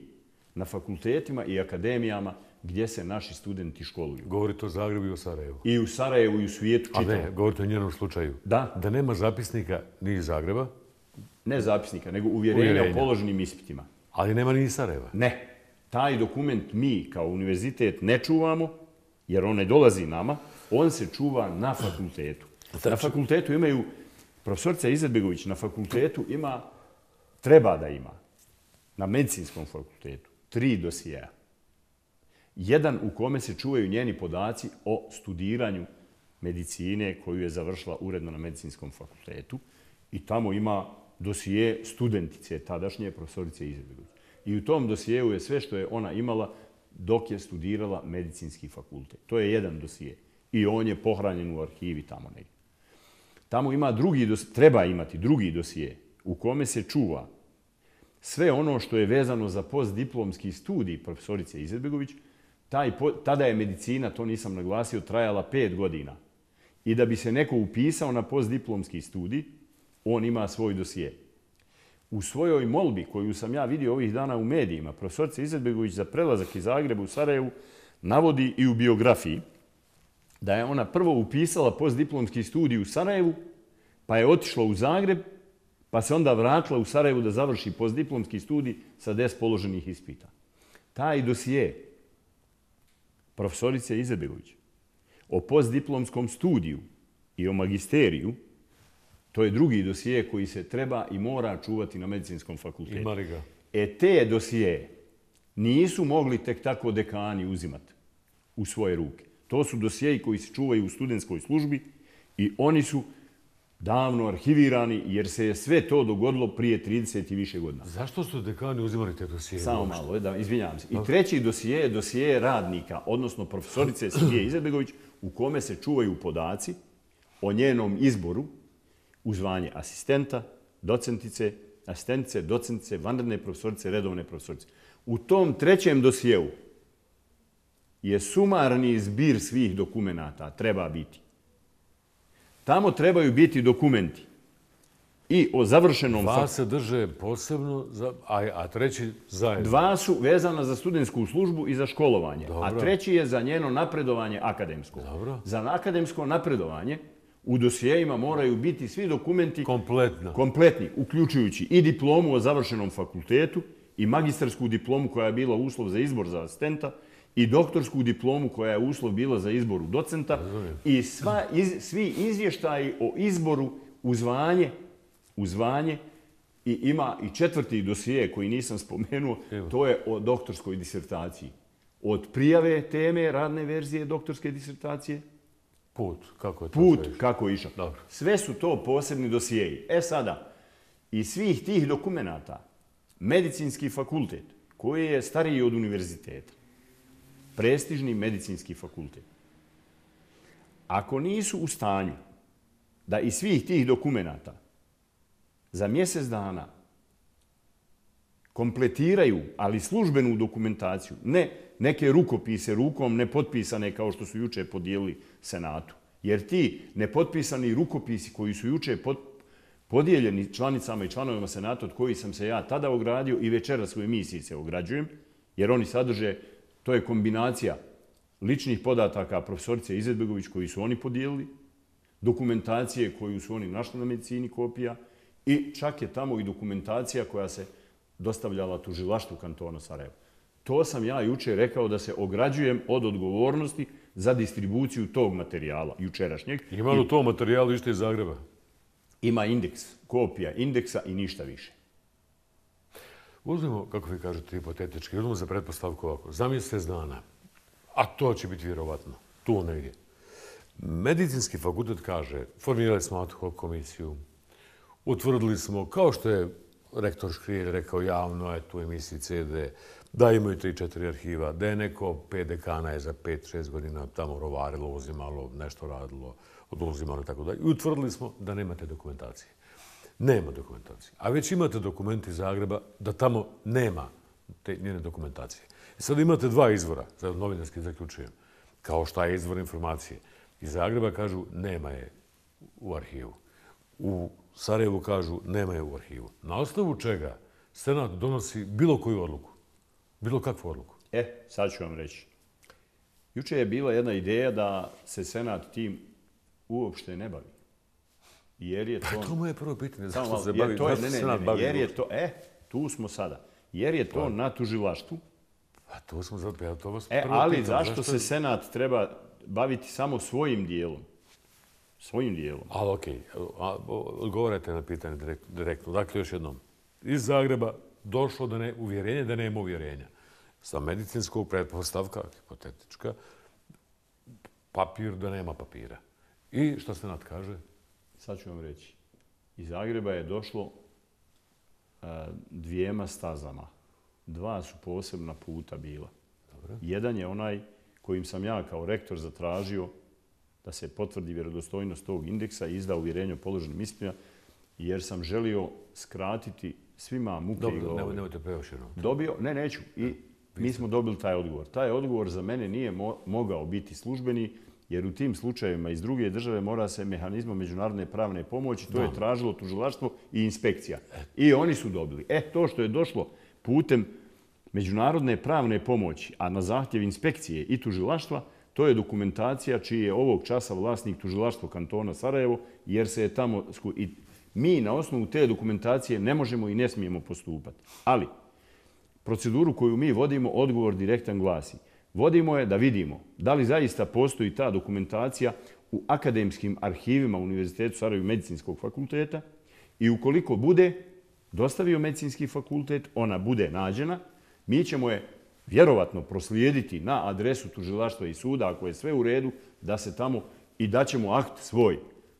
[SPEAKER 11] na fakultetima i akademijama gdje se naši studenti školuju.
[SPEAKER 1] Govorite o Zagrebu i o Sarajevu.
[SPEAKER 11] I u Sarajevu i u svijetu čitavom.
[SPEAKER 1] A ne, govorite o njenom slučaju.
[SPEAKER 11] Da.
[SPEAKER 1] Da nema zapisnika ni iz Zagreba?
[SPEAKER 11] Ne zapisnika, nego uvjerenja, uvjerenja. o položenim ispitima.
[SPEAKER 1] Ali nema ni iz Sarajeva?
[SPEAKER 11] Ne. Taj dokument mi kao univerzitet ne čuvamo, jer on ne dolazi nama, on se čuva na fakultetu. Na fakultetu imaju, profesorica Izetbegović na fakultetu ima, treba da ima, na medicinskom fakultetu, tri dosijeja. Jedan u kome se čuvaju njeni podaci o studiranju medicine koju je završila uredno na medicinskom fakultetu i tamo ima dosije studentice tadašnje profesorice Izetbegović. I u tom dosijeu je sve što je ona imala dok je studirala medicinski fakultet. To je jedan dosije. I on je pohranjen u arhivi tamo negdje. Tamo ima drugi dosije, treba imati drugi dosije u kome se čuva sve ono što je vezano za postdiplomski studij profesorice Izetbegović. Taj, tada je medicina, to nisam naglasio, trajala pet godina. I da bi se neko upisao na postdiplomski studij, on ima svoj dosije. U svojoj molbi, koju sam ja vidio ovih dana u medijima, profesorica Izetbegović za prelazak iz Zagreba u Sarajevu navodi i u biografiji da je ona prvo upisala postdiplomski studij u Sarajevu, pa je otišla u Zagreb, pa se onda vratila u Sarajevu da završi postdiplomski studij sa deset položenih ispita. Taj dosije profesorice Izetbegović o postdiplomskom studiju i o magisteriju, to je drugi dosije koji se treba i mora čuvati na medicinskom fakultetu.
[SPEAKER 1] Ima li ga?
[SPEAKER 11] E te dosije nisu mogli tek tako dekani uzimati u svoje ruke. To su dosijeji koji se čuvaju u studentskoj službi i oni su davno arhivirani jer se je sve to dogodilo prije trideset i više godina.
[SPEAKER 1] Zašto su dekani uzimali te dosije?
[SPEAKER 11] Samo malo, da, izvinjavam se. I treći dosije je dosije radnika, odnosno profesorice Silije Izetbegović, u kome se čuvaju podaci o njenom izboru u zvanje asistenta, docentice, asistentice, docentice, vanredne profesorice, redovne profesorice. U tom trećem dosijeu je sumarni zbir svih dokumenata, treba biti. Tamo trebaju biti dokumenti i o završenom...
[SPEAKER 1] Dva se drže posebno, a, a treći zajedno.
[SPEAKER 11] Dva su vezana za studentsku službu i za školovanje, Dobro. a treći je za njeno napredovanje akademsko.
[SPEAKER 1] Dobro.
[SPEAKER 11] Za akademsko napredovanje u dosijejima moraju biti svi dokumenti
[SPEAKER 1] kompletno.
[SPEAKER 11] kompletni, uključujući i diplomu o završenom fakultetu i magistarsku diplomu koja je bila uslov za izbor za asistenta i doktorsku diplomu koja je uslov bila za izbor docenta i sva, iz, svi izvještaji o izboru u zvanje, u zvanje i ima i četvrti dosije koji nisam spomenuo, Evo. to je o doktorskoj disertaciji. Od prijave teme radne verzije doktorske disertacije,
[SPEAKER 1] Put, kako je to
[SPEAKER 11] Put,
[SPEAKER 1] sve
[SPEAKER 11] kako je išao.
[SPEAKER 1] Dobro.
[SPEAKER 11] Sve su to posebni dosijeji. E sada, iz svih tih dokumenata, medicinski fakultet, koji je stariji od univerziteta, prestižni medicinski fakultet, ako nisu u stanju da iz svih tih dokumenata za mjesec dana kompletiraju, ali službenu dokumentaciju, ne neke rukopise rukom nepotpisane kao što su juče podijelili Senatu. Jer ti nepotpisani rukopisi koji su juče podijeljeni članicama i članovima Senata od kojih sam se ja tada ogradio i večeras u emisiji se ograđujem, jer oni sadrže, to je kombinacija ličnih podataka profesorice Izetbegović koji su oni podijelili, dokumentacije koju su oni našli na medicini kopija i čak je tamo i dokumentacija koja se dostavljala tužilaštvu kantona Sarajevo. To sam ja juče rekao da se ograđujem od odgovornosti za distribuciju tog materijala jučerašnjeg.
[SPEAKER 1] Ima li u tom materijalu ište iz Zagreba?
[SPEAKER 11] Ima indeks, kopija indeksa i ništa više.
[SPEAKER 1] Uzmimo, kako vi kažete, hipotetički, uzmimo za pretpostavku ovako, za mjesec dana, a to će biti vjerovatno, tu negdje. Medicinski fakultet kaže, formirali smo ad hoc komisiju, utvrdili smo, kao što je rektor Škrijelj rekao javno, eto u emisiji C D, da imaju tri četiri arhiva, da je neko pet dekana je za pet šest godina tamo rovarilo, uzimalo, nešto radilo, oduzimalo i tako dalje. I utvrdili smo da nemate dokumentacije. Nema dokumentacije. A već imate dokumenti iz Zagreba da tamo nema te njene dokumentacije. I sad imate dva izvora, sad novinarski zaključujem, kao šta je izvor informacije. Iz Zagreba kažu nema je u arhivu. U Sarajevu kažu nema je u arhivu. Na osnovu čega Senat donosi bilo koju odluku? Bilo kakvu odluku?
[SPEAKER 11] E, sad ću vam reći. Juče je bila jedna ideja da se Senat tim uopšte ne bavi. Jer je to...
[SPEAKER 1] Pa to moje prvo pitanje.
[SPEAKER 11] Zašto
[SPEAKER 1] se bavi?
[SPEAKER 11] To je, ne, ne, ne, ne, jer je to... E, tu smo sada. Jer je to na tužilaštvu.
[SPEAKER 1] Pa to smo zato... Ja to vas
[SPEAKER 11] e,
[SPEAKER 1] prvo
[SPEAKER 11] ali
[SPEAKER 1] pitam.
[SPEAKER 11] zašto,
[SPEAKER 1] zašto
[SPEAKER 11] se Senat treba baviti samo svojim dijelom? Svojim dijelom.
[SPEAKER 1] Ali okej, odgovarajte na pitanje direktno. Dakle, još jednom. Iz Zagreba došlo do ne, uvjerenja da nema uvjerenja. Sa medicinskog pretpostavka, hipotetička, papir da nema papira. I što Senat kaže?
[SPEAKER 11] Sad ću vam reći. Iz Zagreba je došlo uh, dvijema stazama. Dva su posebna puta bila. Dobro. Jedan je onaj kojim sam ja kao rektor zatražio da se potvrdi vjerodostojnost tog indeksa i izda uvjerenje o položenim ispitima, jer sam želio skratiti svima muke i glave.
[SPEAKER 1] Dobro, nemojte preoširno.
[SPEAKER 11] Dobio, ne, neću. I mi smo dobili taj odgovor. Taj odgovor za mene nije mo mogao biti službeni, jer u tim slučajevima iz druge države mora se mehanizmom međunarodne pravne pomoći, to je tražilo tužilaštvo i inspekcija. I oni su dobili. E, to što je došlo putem međunarodne pravne pomoći, a na zahtjev inspekcije i tužilaštva, to je dokumentacija čiji je ovog časa vlasnik tužilaštvo kantona Sarajevo, jer se je tamo... I mi na osnovu te dokumentacije ne možemo i ne smijemo postupati. Ali proceduru koju mi vodimo, odgovor direktan glasi. Vodimo je da vidimo da li zaista postoji ta dokumentacija u akademskim arhivima Univerzitetu Sarajevo medicinskog fakulteta i ukoliko bude dostavio medicinski fakultet, ona bude nađena, mi ćemo je vjerovatno proslijediti na adresu tužilaštva i suda, ako je sve u redu, da se tamo i daćemo akt svoj,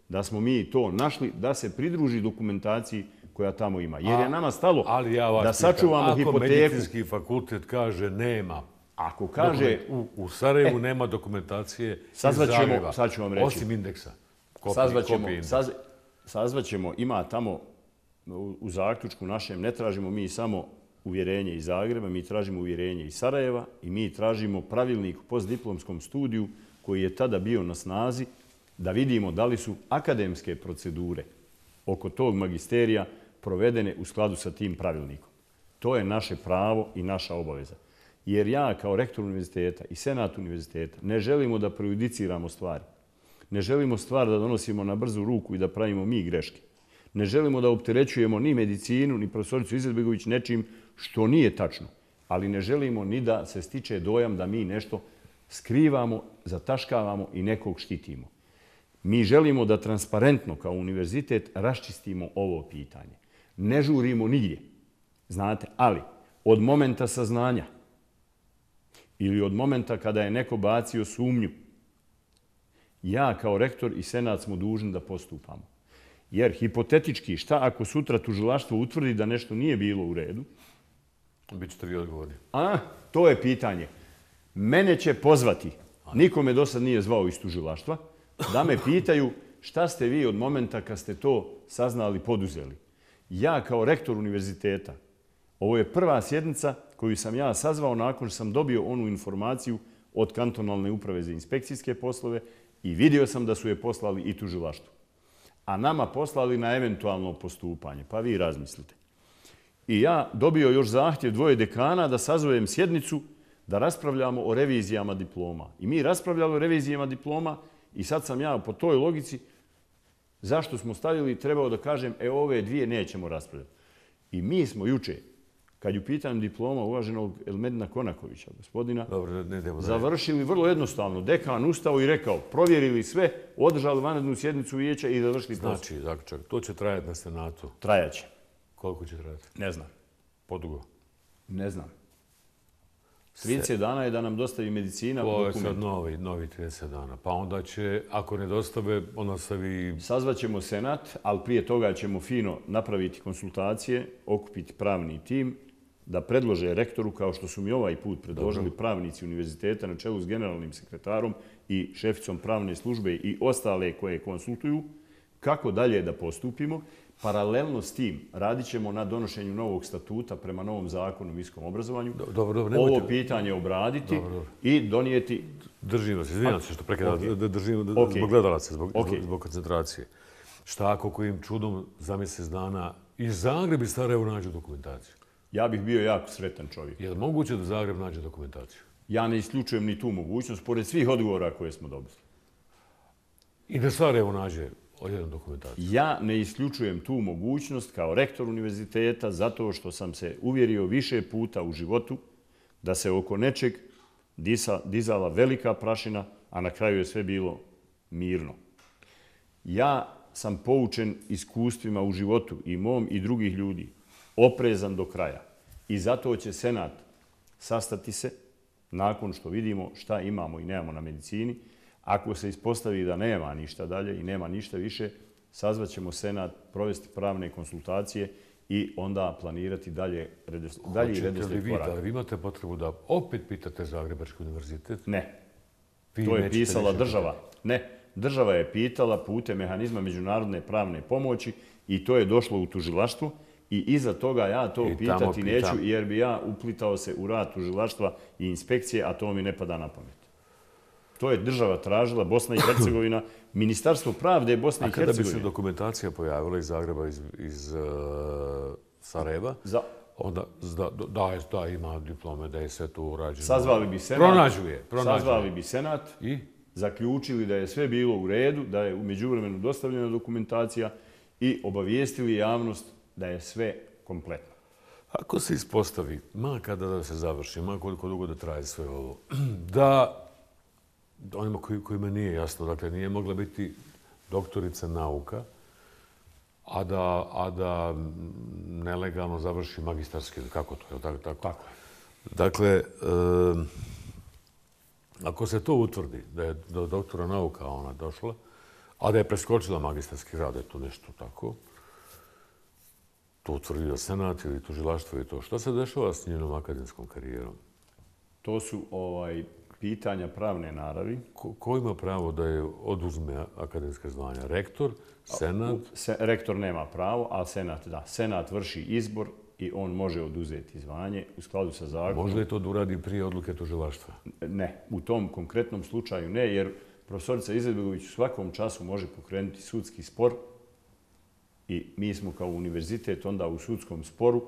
[SPEAKER 11] da smo mi to našli, da se pridruži dokumentaciji koja tamo ima. Jer je nama stalo
[SPEAKER 1] ali ja vas
[SPEAKER 11] da sačuvamo
[SPEAKER 1] pitam,
[SPEAKER 11] hipoteku.
[SPEAKER 1] Ako medicinski fakultet kaže nema,
[SPEAKER 11] ako kaže...
[SPEAKER 1] U, u Sarajevu e, nema dokumentacije iz
[SPEAKER 11] Zagreba, sad ću vam reći.
[SPEAKER 1] Osim indeksa. Kopij,
[SPEAKER 11] sazvaćemo,
[SPEAKER 1] kopij indeksa.
[SPEAKER 11] Saz, sazvaćemo, ima tamo u, u zaključku našem, ne tražimo mi samo uvjerenje iz Zagreba, mi tražimo uvjerenje iz Sarajeva i mi tražimo pravilnik u postdiplomskom studiju koji je tada bio na snazi da vidimo da li su akademske procedure oko tog magisterija provedene u skladu sa tim pravilnikom. To je naše pravo i naša obaveza. Jer ja kao rektor univerziteta i senat univerziteta ne želimo da prejudiciramo stvari. Ne želimo stvar da donosimo na brzu ruku i da pravimo mi greške. Ne želimo da opterećujemo ni medicinu, ni profesoricu Izetbegović nečim što nije tačno. Ali ne želimo ni da se stiče dojam da mi nešto skrivamo, zataškavamo i nekog štitimo. Mi želimo da transparentno kao univerzitet raščistimo ovo pitanje. Ne žurimo nigdje, znate, ali od momenta saznanja ili od momenta kada je neko bacio sumnju, ja kao rektor i senat smo dužni da postupamo. Jer hipotetički, šta ako sutra tužilaštvo utvrdi da nešto nije bilo u redu?
[SPEAKER 1] Bićete vi odgovorni.
[SPEAKER 11] A, to je pitanje. Mene će pozvati, niko me do sad nije zvao iz tužilaštva, da me pitaju šta ste vi od momenta kad ste to saznali, poduzeli. Ja kao rektor univerziteta, ovo je prva sjednica koju sam ja sazvao nakon što sam dobio onu informaciju od kantonalne uprave za inspekcijske poslove i vidio sam da su je poslali i tužilaštvu. A nama poslali na eventualno postupanje. Pa vi razmislite. I ja dobio još zahtjev dvoje dekana da sazovem sjednicu da raspravljamo o revizijama diploma. I mi raspravljali o revizijama diploma i sad sam ja po toj logici zašto smo stavili, trebao da kažem, e ove dvije nećemo raspravljati. I mi smo juče, kad ju pitam diploma uvaženog Elmedina Konakovića, gospodina,
[SPEAKER 1] Dobro, ne, ne,
[SPEAKER 11] završili vrlo jednostavno. Dekan ustao i rekao, provjerili sve, održali vanrednu sjednicu vijeća i završili posao.
[SPEAKER 1] Znači, zaključak, to će trajati na senatu.
[SPEAKER 11] Trajaće.
[SPEAKER 1] Koliko će trajati?
[SPEAKER 11] Ne znam.
[SPEAKER 1] Podugo?
[SPEAKER 11] Ne znam. trideset dana je da nam dostavi medicina dokument.
[SPEAKER 1] To je sad novi, novi trideset dana. Pa onda će, ako ne dostave, onda stavi...
[SPEAKER 11] Sazvaćemo senat, ali prije toga ćemo fino napraviti konsultacije, okupiti pravni tim, da predlože rektoru, kao što su mi ovaj put predložili pravnici univerziteta na čelu s generalnim sekretarom i šeficom pravne službe i ostale koje konsultuju, kako dalje da postupimo. Paralelno s tim radit ćemo na donošenju novog statuta prema novom zakonu o visokom obrazovanju.
[SPEAKER 1] Dobro, dobro,
[SPEAKER 11] ovo pitanje obraditi dobro, dobro. I donijeti...
[SPEAKER 1] Držimo se, izvinjam se što prekidam, okay. držimo okay. zbog gledalaca, zbog, okay. zbog koncentracije. Šta ako kojim čudom za mjesec dana i Zagreb i Sarajevo nađu dokumentaciju?
[SPEAKER 11] Ja bih bio jako sretan čovjek.
[SPEAKER 1] Je li moguće da Zagreb nađe dokumentaciju?
[SPEAKER 11] Ja ne isključujem ni tu mogućnost, pored svih odgovora koje smo dobili.
[SPEAKER 1] I da Sarajevo nađe odjednom dokumentaciju?
[SPEAKER 11] Ja ne isključujem tu mogućnost kao rektor univerziteta zato što sam se uvjerio više puta u životu da se oko nečeg disa, dizala velika prašina, a na kraju je sve bilo mirno. Ja sam poučen iskustvima u životu i mom i drugih ljudi, oprezan do kraja. I zato će senat sastati se nakon što vidimo šta imamo i nemamo na medicini. Ako se ispostavi da nema ništa dalje i nema ništa više, sazvaćemo senat, provesti pravne konsultacije i onda planirati dalje redoslijed koraka.
[SPEAKER 1] Hoćete li vi da vi imate potrebu da opet pitate Zagrebački univerzitet?
[SPEAKER 11] Ne. To je pisala država. Ne. Država je pitala putem mehanizma međunarodne pravne pomoći i to je došlo u tužilaštvo. I iza toga ja to pitati neću jer bi ja uplitao se u rad tužilaštva i inspekcije, a to mi ne pada na pamet. To je država tražila, Bosna i Hercegovina, Ministarstvo pravde Bosne i Hercegovine.
[SPEAKER 1] A kada bi se dokumentacija pojavila iz Zagreba, iz, iz uh, Sarajeva, Za... onda da, da, da ima diplome, da je sve to urađeno.
[SPEAKER 11] Sazvali bi senat.
[SPEAKER 1] Pronađuje. pronađuje.
[SPEAKER 11] Sazvali bi senat. I? Zaključili da je sve bilo u redu, da je u međuvremenu dostavljena dokumentacija i obavijestili javnost da je sve kompletno.
[SPEAKER 1] Ako se ispostavi, ma kada da se završi, ma koliko dugo da traje sve ovo, da onima koji, kojima nije jasno, dakle nije mogla biti doktorica nauka, a da, a da nelegalno završi magistarski, kako to je, tako? Tako. tako. Dakle, e, ako se to utvrdi da je do doktora nauka ona došla, a da je preskočila magistarski rad, je to nešto tako, to utvrdio senat ili tužilaštvo i to. Šta se dešava s njenom akademskom karijerom?
[SPEAKER 11] To su ovaj, pitanja pravne naravi.
[SPEAKER 1] Ko, ko ima pravo da je oduzme akademske zvanja? Rektor, senat?
[SPEAKER 11] Se, rektor nema pravo, ali senat da. Senat vrši izbor i on može oduzeti zvanje u skladu sa zakonom.
[SPEAKER 1] Može li to da uradi prije odluke tužilaštva?
[SPEAKER 11] Ne, u tom konkretnom slučaju ne, jer profesorica Izetbegović u svakom času može pokrenuti sudski spor i mi smo kao univerzitet onda u sudskom sporu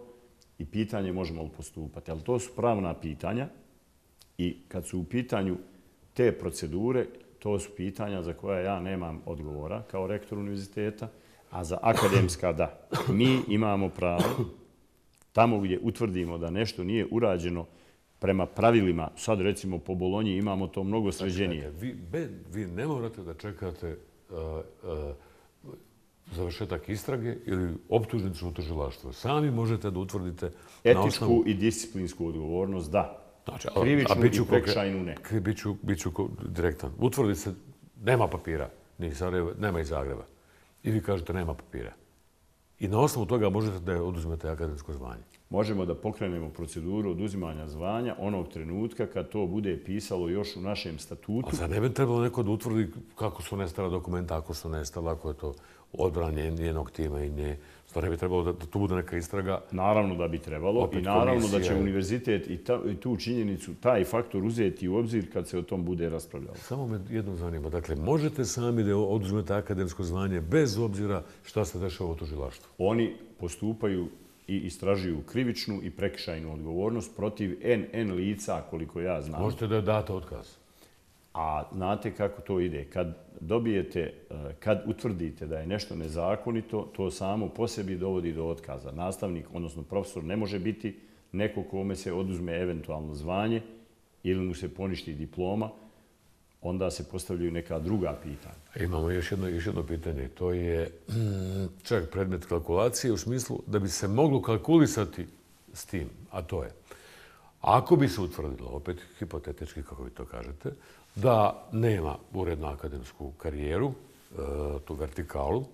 [SPEAKER 11] i pitanje možemo li postupati. Ali to su pravna pitanja i kad su u pitanju te procedure, to su pitanja za koja ja nemam odgovora kao rektor univerziteta, a za akademska da. Mi imamo pravo tamo gdje utvrdimo da nešto nije urađeno prema pravilima, sad recimo po Bolonji imamo to mnogo sređenije.
[SPEAKER 1] Vi, vi ne morate da čekate uh, uh, završetak istrage ili optužnicu u tužilaštvu. Sami možete da utvrdite
[SPEAKER 11] etičku
[SPEAKER 1] na osnovu...
[SPEAKER 11] i disciplinsku odgovornost, da.
[SPEAKER 1] Znači,
[SPEAKER 11] krivičnu
[SPEAKER 1] a biću,
[SPEAKER 11] i prekšajnu ne.
[SPEAKER 1] Biću, biću direktan. Utvrdi se, nema papira, ni Sarajeva, nema iz Zagreba. I vi kažete nema papira. I na osnovu toga možete da oduzmete akademsko zvanje.
[SPEAKER 11] Možemo da pokrenemo proceduru oduzimanja zvanja onog trenutka kad to bude pisalo još u našem statutu.
[SPEAKER 1] A zar ne bi trebalo neko da utvrdi kako su nestala dokumenta, ako su nestala, ako je to odbranje njenog tima i nje. Stvar ne bi trebalo da, da tu bude neka istraga.
[SPEAKER 11] Naravno da bi trebalo i naravno komisija. Da će univerzitet i, ta, i tu činjenicu, taj faktor uzeti u obzir kad se o tom bude raspravljalo.
[SPEAKER 1] Samo me jedno zanima. Dakle, možete sami da oduzmete akademsko zvanje bez obzira šta se dešava u tužilaštvu?
[SPEAKER 11] Oni postupaju i istražuju krivičnu i prekršajnu odgovornost protiv en en lica, koliko ja znam.
[SPEAKER 1] Možete da date otkaz?
[SPEAKER 11] A znate kako to ide? Kad dobijete, kad utvrdite da je nešto nezakonito, to samo po sebi dovodi do otkaza. Nastavnik, odnosno profesor, ne može biti neko kome se oduzme eventualno zvanje ili mu se poništi diploma, onda se postavljaju neka druga pitanja.
[SPEAKER 1] Imamo još jedno, još jedno pitanje. To je čak predmet kalkulacije u smislu da bi se moglo kalkulisati s tim, a to je Ako bi se utvrdilo, opet hipotetički, kako vi to kažete, da nema urednu akademsku karijeru, tu vertikalu,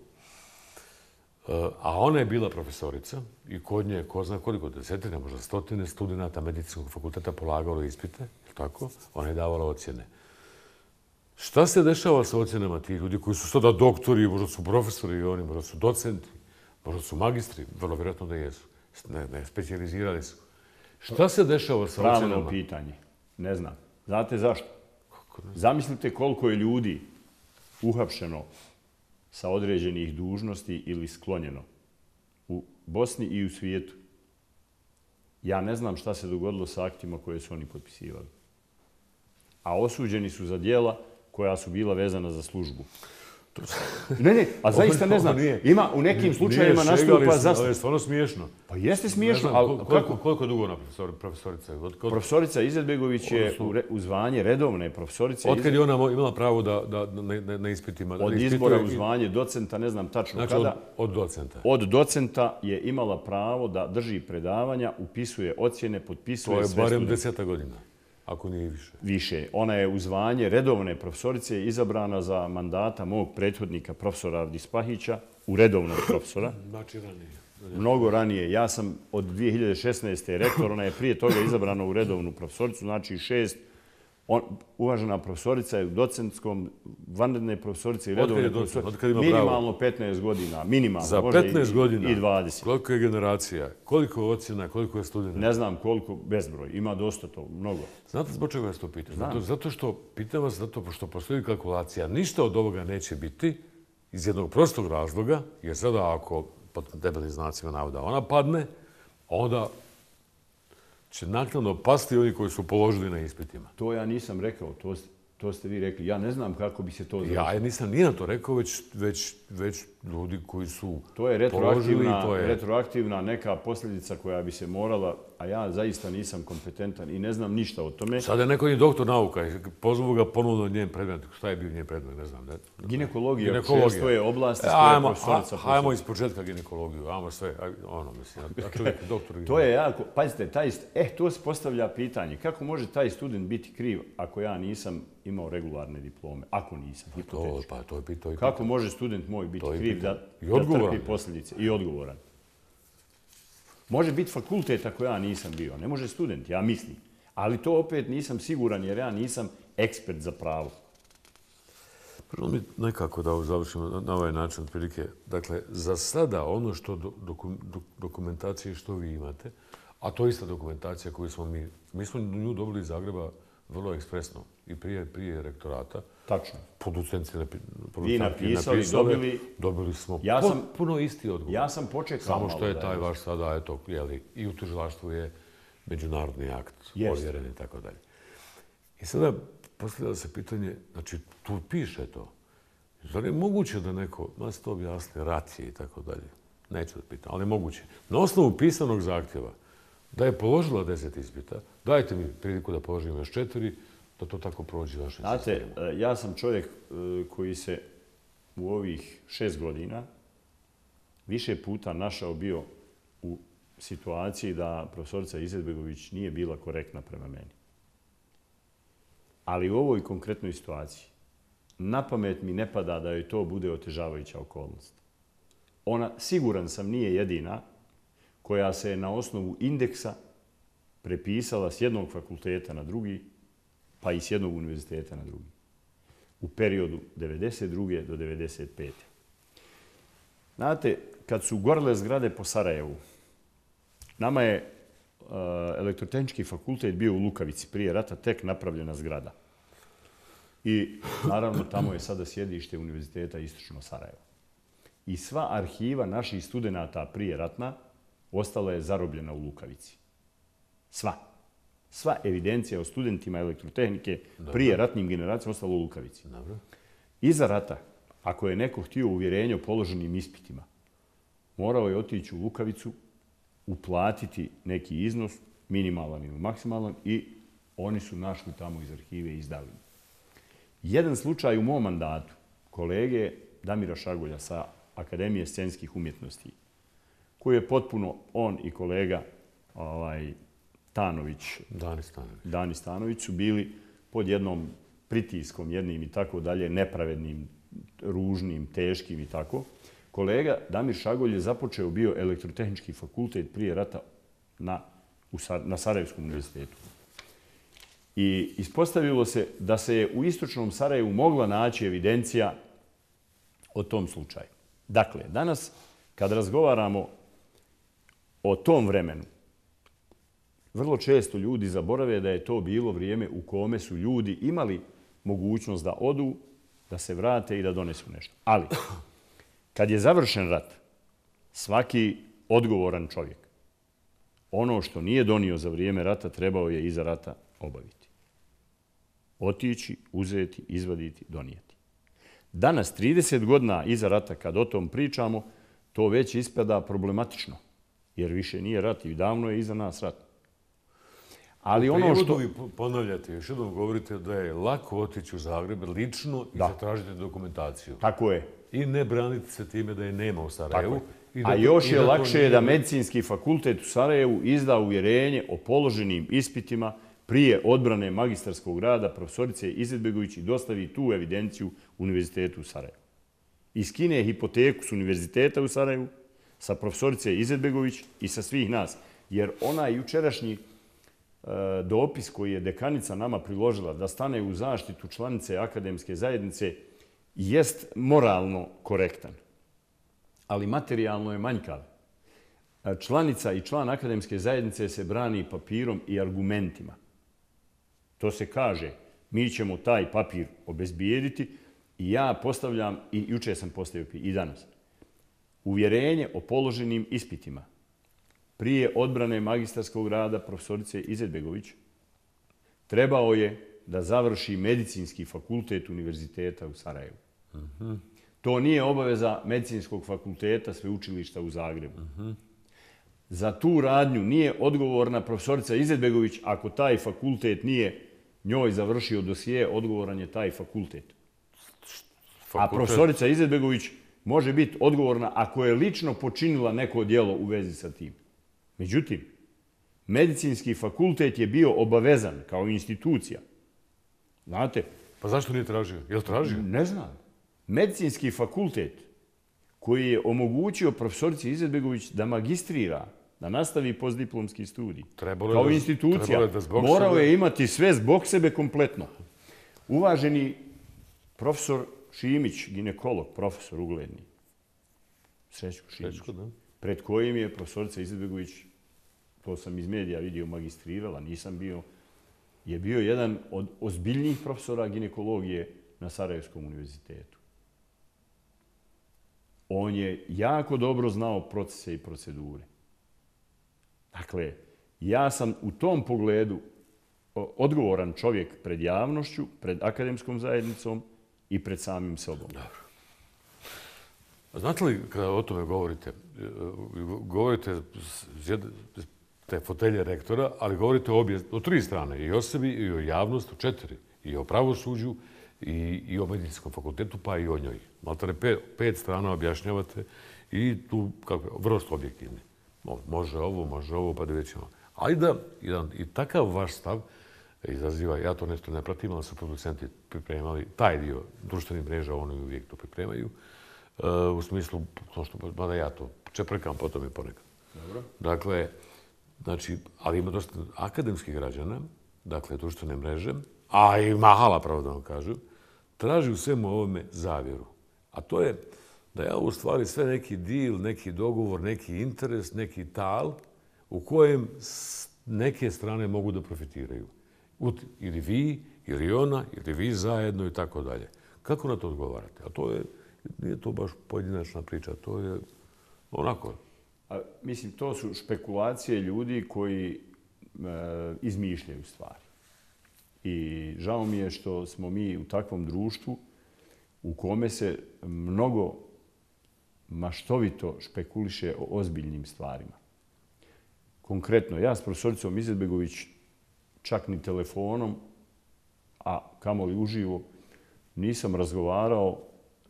[SPEAKER 1] a ona je bila profesorica i kod nje, ko zna koliko, desetine, možda stotine studenta medicinskog fakulteta polagalo ispite, tako? Ona je davala ocjene. Šta se dešava sa ocjenama tih ljudi koji su sada doktori, možda su profesori i oni, možda su docenti, možda su magistri, vrlo vjerojatno da jesu. Ne, ne, specijalizirali su. Šta se dešava sa ocjenama?
[SPEAKER 11] Pravno pitanje. Ne znam. Znate zašto? Zamislite koliko je ljudi uhapšeno sa određenih dužnosti ili sklonjeno u Bosni i u svijetu. Ja ne znam šta se dogodilo sa aktima koje su oni potpisivali. A osuđeni su za dijela koja su bila vezana za službu. Ne, ne, a zaista ne znam. Ima u nekim slučajevima nastupa za...
[SPEAKER 1] Ali je stvarno smiješno.
[SPEAKER 11] Pa jeste smiješno,
[SPEAKER 1] ali kako? Koliko dugo ona profesorica?
[SPEAKER 11] Profesorica Izetbegović je u zvanje redovne profesorice.
[SPEAKER 1] Otkad je ona imala pravo da na ispitima...
[SPEAKER 11] Od izbora u zvanje docenta, ne znam tačno kada.
[SPEAKER 1] Znači od docenta?
[SPEAKER 11] Od docenta je imala pravo da drži predavanja, upisuje ocjene, potpisuje sve studente.
[SPEAKER 1] To je barem deseta godina. Ako nije više.
[SPEAKER 11] Više. Ona je u zvanje redovne profesorice izabrana za mandata mog prethodnika, profesora Avdispahića, u redovnog profesora.
[SPEAKER 1] Znači ranije.
[SPEAKER 11] Mnogo ranije. Ja sam od dvije hiljade šesnaeste. rektor, ona je prije toga izabrana u redovnu profesoricu, znači šest. On, uvažena profesorica je u docentskom, vanredne profesorice i redovne profesorice. Minimalno petnaest godina. Minimalno.
[SPEAKER 1] Za petnaest godina.
[SPEAKER 11] I dvadeset.
[SPEAKER 1] Koliko je generacija? Koliko je ocjena? Koliko je studenta?
[SPEAKER 11] Ne znam koliko, bezbroj. Ima dosta to, mnogo.
[SPEAKER 1] Znate zbog čega vas to pitam? Zato, zato što, pitam vas zato što postoji kalkulacija. Ništa od ovoga neće biti iz jednog prostog razloga, jer sada ako pod debelim znacima navoda ona padne, onda će naknadno pasti oni koji su položili na ispitima.
[SPEAKER 11] To ja nisam rekao, to, to ste vi rekli. Ja ne znam kako bi se to završilo.
[SPEAKER 1] Ja nisam nije to rekao, već, već, već ljudi koji su
[SPEAKER 11] to je retroaktivna,
[SPEAKER 1] položili. To je
[SPEAKER 11] retroaktivna neka posljedica koja bi se morala, a ja zaista nisam kompetentan i ne znam ništa o tome.
[SPEAKER 1] Sada je neko je doktor nauka i pozvu ga ponovno od njen predmet. Šta je bio njen predmet, ne znam. Ne?
[SPEAKER 11] Ginekologija, Ginekologija. To je oblast iz koje je profesorica.
[SPEAKER 1] Hajmo iz početka ginekologiju, ajmo sve, ono mislim, a čovjek je doktor.
[SPEAKER 11] To je jako, pazite, taj, eh, to se postavlja pitanje. Kako može taj student biti kriv ako ja nisam imao regularne diplome? Ako nisam, hipotetički.
[SPEAKER 1] Pa to je pitanje.
[SPEAKER 11] Kako može student moj biti kriv da, da trpi posljedice? I odgovoran. Može biti fakultet ako ja nisam bio, ne može student, ja mislim. Ali to opet nisam siguran jer ja nisam ekspert za pravo.
[SPEAKER 1] Prvo mi nekako da završimo na ovaj način otprilike. Dakle, za sada ono što dokumentacije što vi imate, a to je ista dokumentacija koju smo mi, mi smo nju dobili iz Zagreba vrlo ekspresno i prije, prije rektorata.
[SPEAKER 11] Tačno.
[SPEAKER 1] Producenci
[SPEAKER 11] vi napisali, dobili...
[SPEAKER 1] Dobili smo
[SPEAKER 11] ja sam,
[SPEAKER 1] puno isti odgovor.
[SPEAKER 11] Ja sam počekao
[SPEAKER 1] samo što je taj vaš sada, eto, jeli, i u tužilaštvu je međunarodni akt ovjeren i tako dalje. I sada postavlja se pitanje, znači tu piše to. Zar je moguće da neko, nas to objasni, rat je i tako dalje. Neću da pitam, ali je moguće. Na osnovu pisanog zahtjeva da je položila deset ispita, dajte mi priliku da položim još četiri, da to tako prođe vašim sistemom.
[SPEAKER 11] Znate, ja sam čovjek koji se u ovih šest godina više puta našao bio u situaciji da profesorica Izetbegović nije bila korektna prema meni. Ali u ovoj konkretnoj situaciji na pamet mi ne pada da joj to bude otežavajuća okolnost. Ona, siguran sam, nije jedina koja se je na osnovu indeksa prepisala s jednog fakulteta na drugi, pa i s jednog univerziteta na drugi. U periodu devedeset druge do devedeset pete Znate, kad su gorele zgrade po Sarajevu, nama je uh, elektrotehnički fakultet bio u Lukavici, prije rata tek napravljena zgrada. I naravno tamo je sada sjedište Univerziteta Istočno Sarajevo. I sva arhiva naših studenata prije ratna ostala je zarobljena u Lukavici. Sva. Sva evidencija o studentima elektrotehnike prije ratnim generacijama ostala u Lukavici.
[SPEAKER 1] Dobro.
[SPEAKER 11] Iza rata, ako je neko htio uvjerenje o položenim ispitima, morao je otići u Lukavicu, uplatiti neki iznos, minimalan ili maksimalan, i oni su našli tamo iz arhive i izdali. Jedan slučaj u mom mandatu, kolege Damira Šagulja sa Akademije scenskih umjetnosti, koji je potpuno, on i kolega ovaj, Stanović,
[SPEAKER 1] Dani Stanović.
[SPEAKER 11] Dani Stanović su bili pod jednom pritiskom, jednim i tako dalje, nepravednim, ružnim, teškim i tako. Kolega Damir Šagolj je započeo bio elektrotehnički fakultet prije rata na, u, na Sarajevskom univerzitetu. I ispostavilo se da se je u istočnom Sarajevu mogla naći evidencija o tom slučaju. Dakle, danas kad razgovaramo o tom vremenu, vrlo često ljudi zaborave da je to bilo vrijeme u kome su ljudi imali mogućnost da odu, da se vrate i da donesu nešto. Ali, kad je završen rat, svaki odgovoran čovjek, ono što nije donio za vrijeme rata, trebao je iza rata obaviti. Otići, uzeti, izvaditi, donijeti. Danas, trideset godina iza rata, kad o tom pričamo, to već ispada problematično, jer više nije rat i davno je iza nas rat. Ali ono što...
[SPEAKER 1] vi ponavljate, još jednom govorite da je lako otići u Zagreb lično i zatražiti dokumentaciju.
[SPEAKER 11] Tako je.
[SPEAKER 1] I ne braniti se time da je nema u Sarajevu.
[SPEAKER 11] A još je lakše da Medicinski fakultet u Sarajevu izda uvjerenje o položenim ispitima prije odbrane magistarskog rada profesorice Izetbegović i dostavi tu evidenciju Univerzitetu u Sarajevu. Iskine hipoteku s Univerziteta u Sarajevu, sa profesorice Izetbegović i sa svih nas. Jer onaj jučerašnji dopis koji je dekanica nama priložila da stane u zaštitu članice akademske zajednice jest moralno korektan, ali materijalno je manjkav. Članica i član akademske zajednice se brani papirom i argumentima. To se kaže, mi ćemo taj papir obezbijediti i ja postavljam, i juče sam postavio i danas, uvjerenje o položenim ispitima prije odbrane magistarskog rada profesorice Izetbegović trebao je da završi Medicinski fakultet Univerziteta u Sarajevu. Uh-huh. To nije obaveza Medicinskog fakulteta Sveučilišta u Zagrebu. Uh-huh. Za tu radnju nije odgovorna profesorica Izetbegović ako taj fakultet nije njoj završio dosije, odgovoran je taj fakultet. fakultet. A profesorica Izetbegović može biti odgovorna ako je lično počinila neko djelo u vezi sa tim. Međutim, Medicinski fakultet je bio obavezan kao institucija. Znate?
[SPEAKER 1] Pa zašto nije tražio? Je li tražio?
[SPEAKER 11] Ne znam. Medicinski fakultet koji je omogućio profesorici Izetbegović da magistrira, da nastavi postdiplomski studij.
[SPEAKER 1] Trebalo
[SPEAKER 11] kao
[SPEAKER 1] da,
[SPEAKER 11] institucija,
[SPEAKER 1] je da
[SPEAKER 11] morao
[SPEAKER 1] sebe...
[SPEAKER 11] je imati sve zbog sebe kompletno. Uvaženi profesor Šimić, ginekolog, profesor ugledni, Srećko Šimić,
[SPEAKER 1] Srećko, da.
[SPEAKER 11] pred kojim je profesorica Izetbegović, to sam iz medija vidio, magistrirala, nisam bio, je bio jedan od ozbiljnijih profesora ginekologije na Sarajevskom univerzitetu. On je jako dobro znao procese i procedure. Dakle, ja sam u tom pogledu odgovoran čovjek pred javnošću, pred akademskom zajednicom i pred samim sobom.
[SPEAKER 1] Dobro. A znate li kada o tome govorite, govorite te fotelje rektora, ali govorite o, obje, o tri strane, i o sebi, i o javnosti, o četiri, i o pravosuđu, i, i o medicinskom fakultetu, pa i o njoj. Maltare pet, pet strana objašnjavate i tu kako, vrlo ste objektivni. Može ovo, može ovo, pa da većemo. Ali da, jedan, i takav vaš stav izaziva, ja to nešto ne pratim, ali su producenti pripremali taj dio društvenih mreža, oni uvijek to pripremaju, uh, u smislu, to što, mada ja to čeprkam potom i ponekad.
[SPEAKER 11] Dobro.
[SPEAKER 1] Dakle, znači, ali ima dosta akademskih građana, dakle, društvene mreže, a i mahala, pravo da vam kažu, traži u svemu ovome zavjeru. A to je da je u stvari sve neki deal, neki dogovor, neki interes, neki tal u kojem neke strane mogu da profitiraju. Ili vi, ili ona, ili vi zajedno i tako dalje. Kako na to odgovarate? A to je, nije to baš pojedinačna priča, to je onako.
[SPEAKER 11] A, mislim, to su špekulacije ljudi koji e, izmišljaju stvari. I žao mi je što smo mi u takvom društvu u kome se mnogo maštovito špekuliše o ozbiljnim stvarima. Konkretno, ja s profesoricom Izetbegović čak ni telefonom, a kamoli uživo, nisam razgovarao,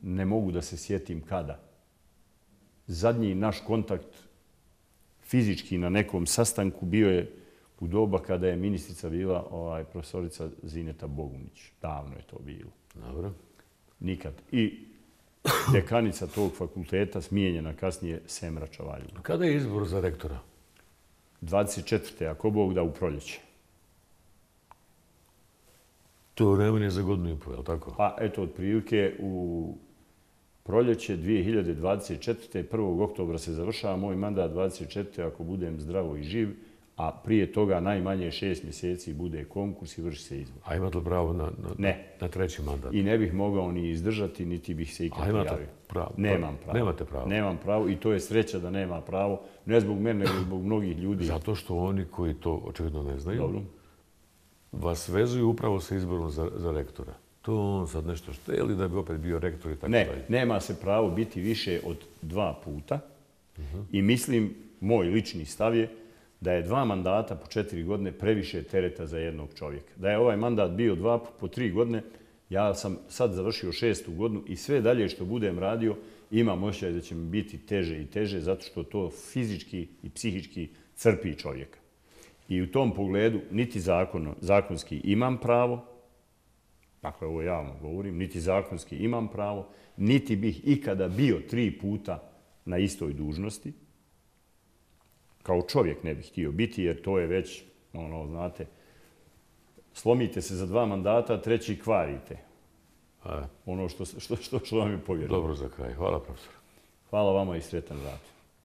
[SPEAKER 11] ne mogu da se sjetim kada. Zadnji naš kontakt fizički na nekom sastanku bio je u doba kada je ministrica bila ovaj, profesorica Zineta Bogunić. Davno je to bilo.
[SPEAKER 1] Dobro.
[SPEAKER 11] Nikad. I dekanica tog fakulteta smijenjena kasnije Semra Čavalju.
[SPEAKER 1] Kada je izbor za rektora?
[SPEAKER 11] dvadeset četvrte ako Bog da u proljeće.
[SPEAKER 1] To nema nije za godinu i po, je li tako?
[SPEAKER 11] Pa eto, otprilike u proljeće dvije hiljade dvadeset četvrte. prvog oktobra se završava moj mandat dvadeset četvrte ako budem zdravo i živ, a prije toga najmanje šest mjeseci bude konkurs i vrši se izbor.
[SPEAKER 1] A imate li pravo na, na,
[SPEAKER 11] ne.
[SPEAKER 1] na treći mandat?
[SPEAKER 11] I ne bih mogao ni izdržati, niti bih se ikad prijavio.
[SPEAKER 1] A imate pravo?
[SPEAKER 11] Nemam pravo.
[SPEAKER 1] Nemate pravo?
[SPEAKER 11] Nemam pravo i to je sreća da nema pravo. Ne zbog mene, nego zbog mnogih ljudi.
[SPEAKER 1] Zato što oni koji to očigledno ne znaju,
[SPEAKER 11] Dobro.
[SPEAKER 1] vas vezuju upravo sa izborom za, za rektora. To on sad nešto šteli da bi opet bio rektor i tako
[SPEAKER 11] ne,
[SPEAKER 1] dalje.
[SPEAKER 11] Ne, nema se pravo biti više od dva puta. Uh-huh. I mislim, moj lični stav je da je dva mandata po četiri godine previše tereta za jednog čovjeka. Da je ovaj mandat bio dva po tri godine, ja sam sad završio šestu godinu i sve dalje što budem radio imam osjećaj da će mi biti teže i teže zato što to fizički i psihički crpi čovjeka. I u tom pogledu niti zakono, zakonski imam pravo, dakle ovo javno govorim, niti zakonski imam pravo, niti bih ikada bio tri puta na istoj dužnosti. Kao čovjek ne bih htio biti, jer to je već, ono, znate, slomite se za dva mandata, treći kvarite. A, ono što, što, što, što vam je povjereno.
[SPEAKER 1] Dobro za kraj. Hvala, profesor.
[SPEAKER 11] Hvala vama i sretan rad.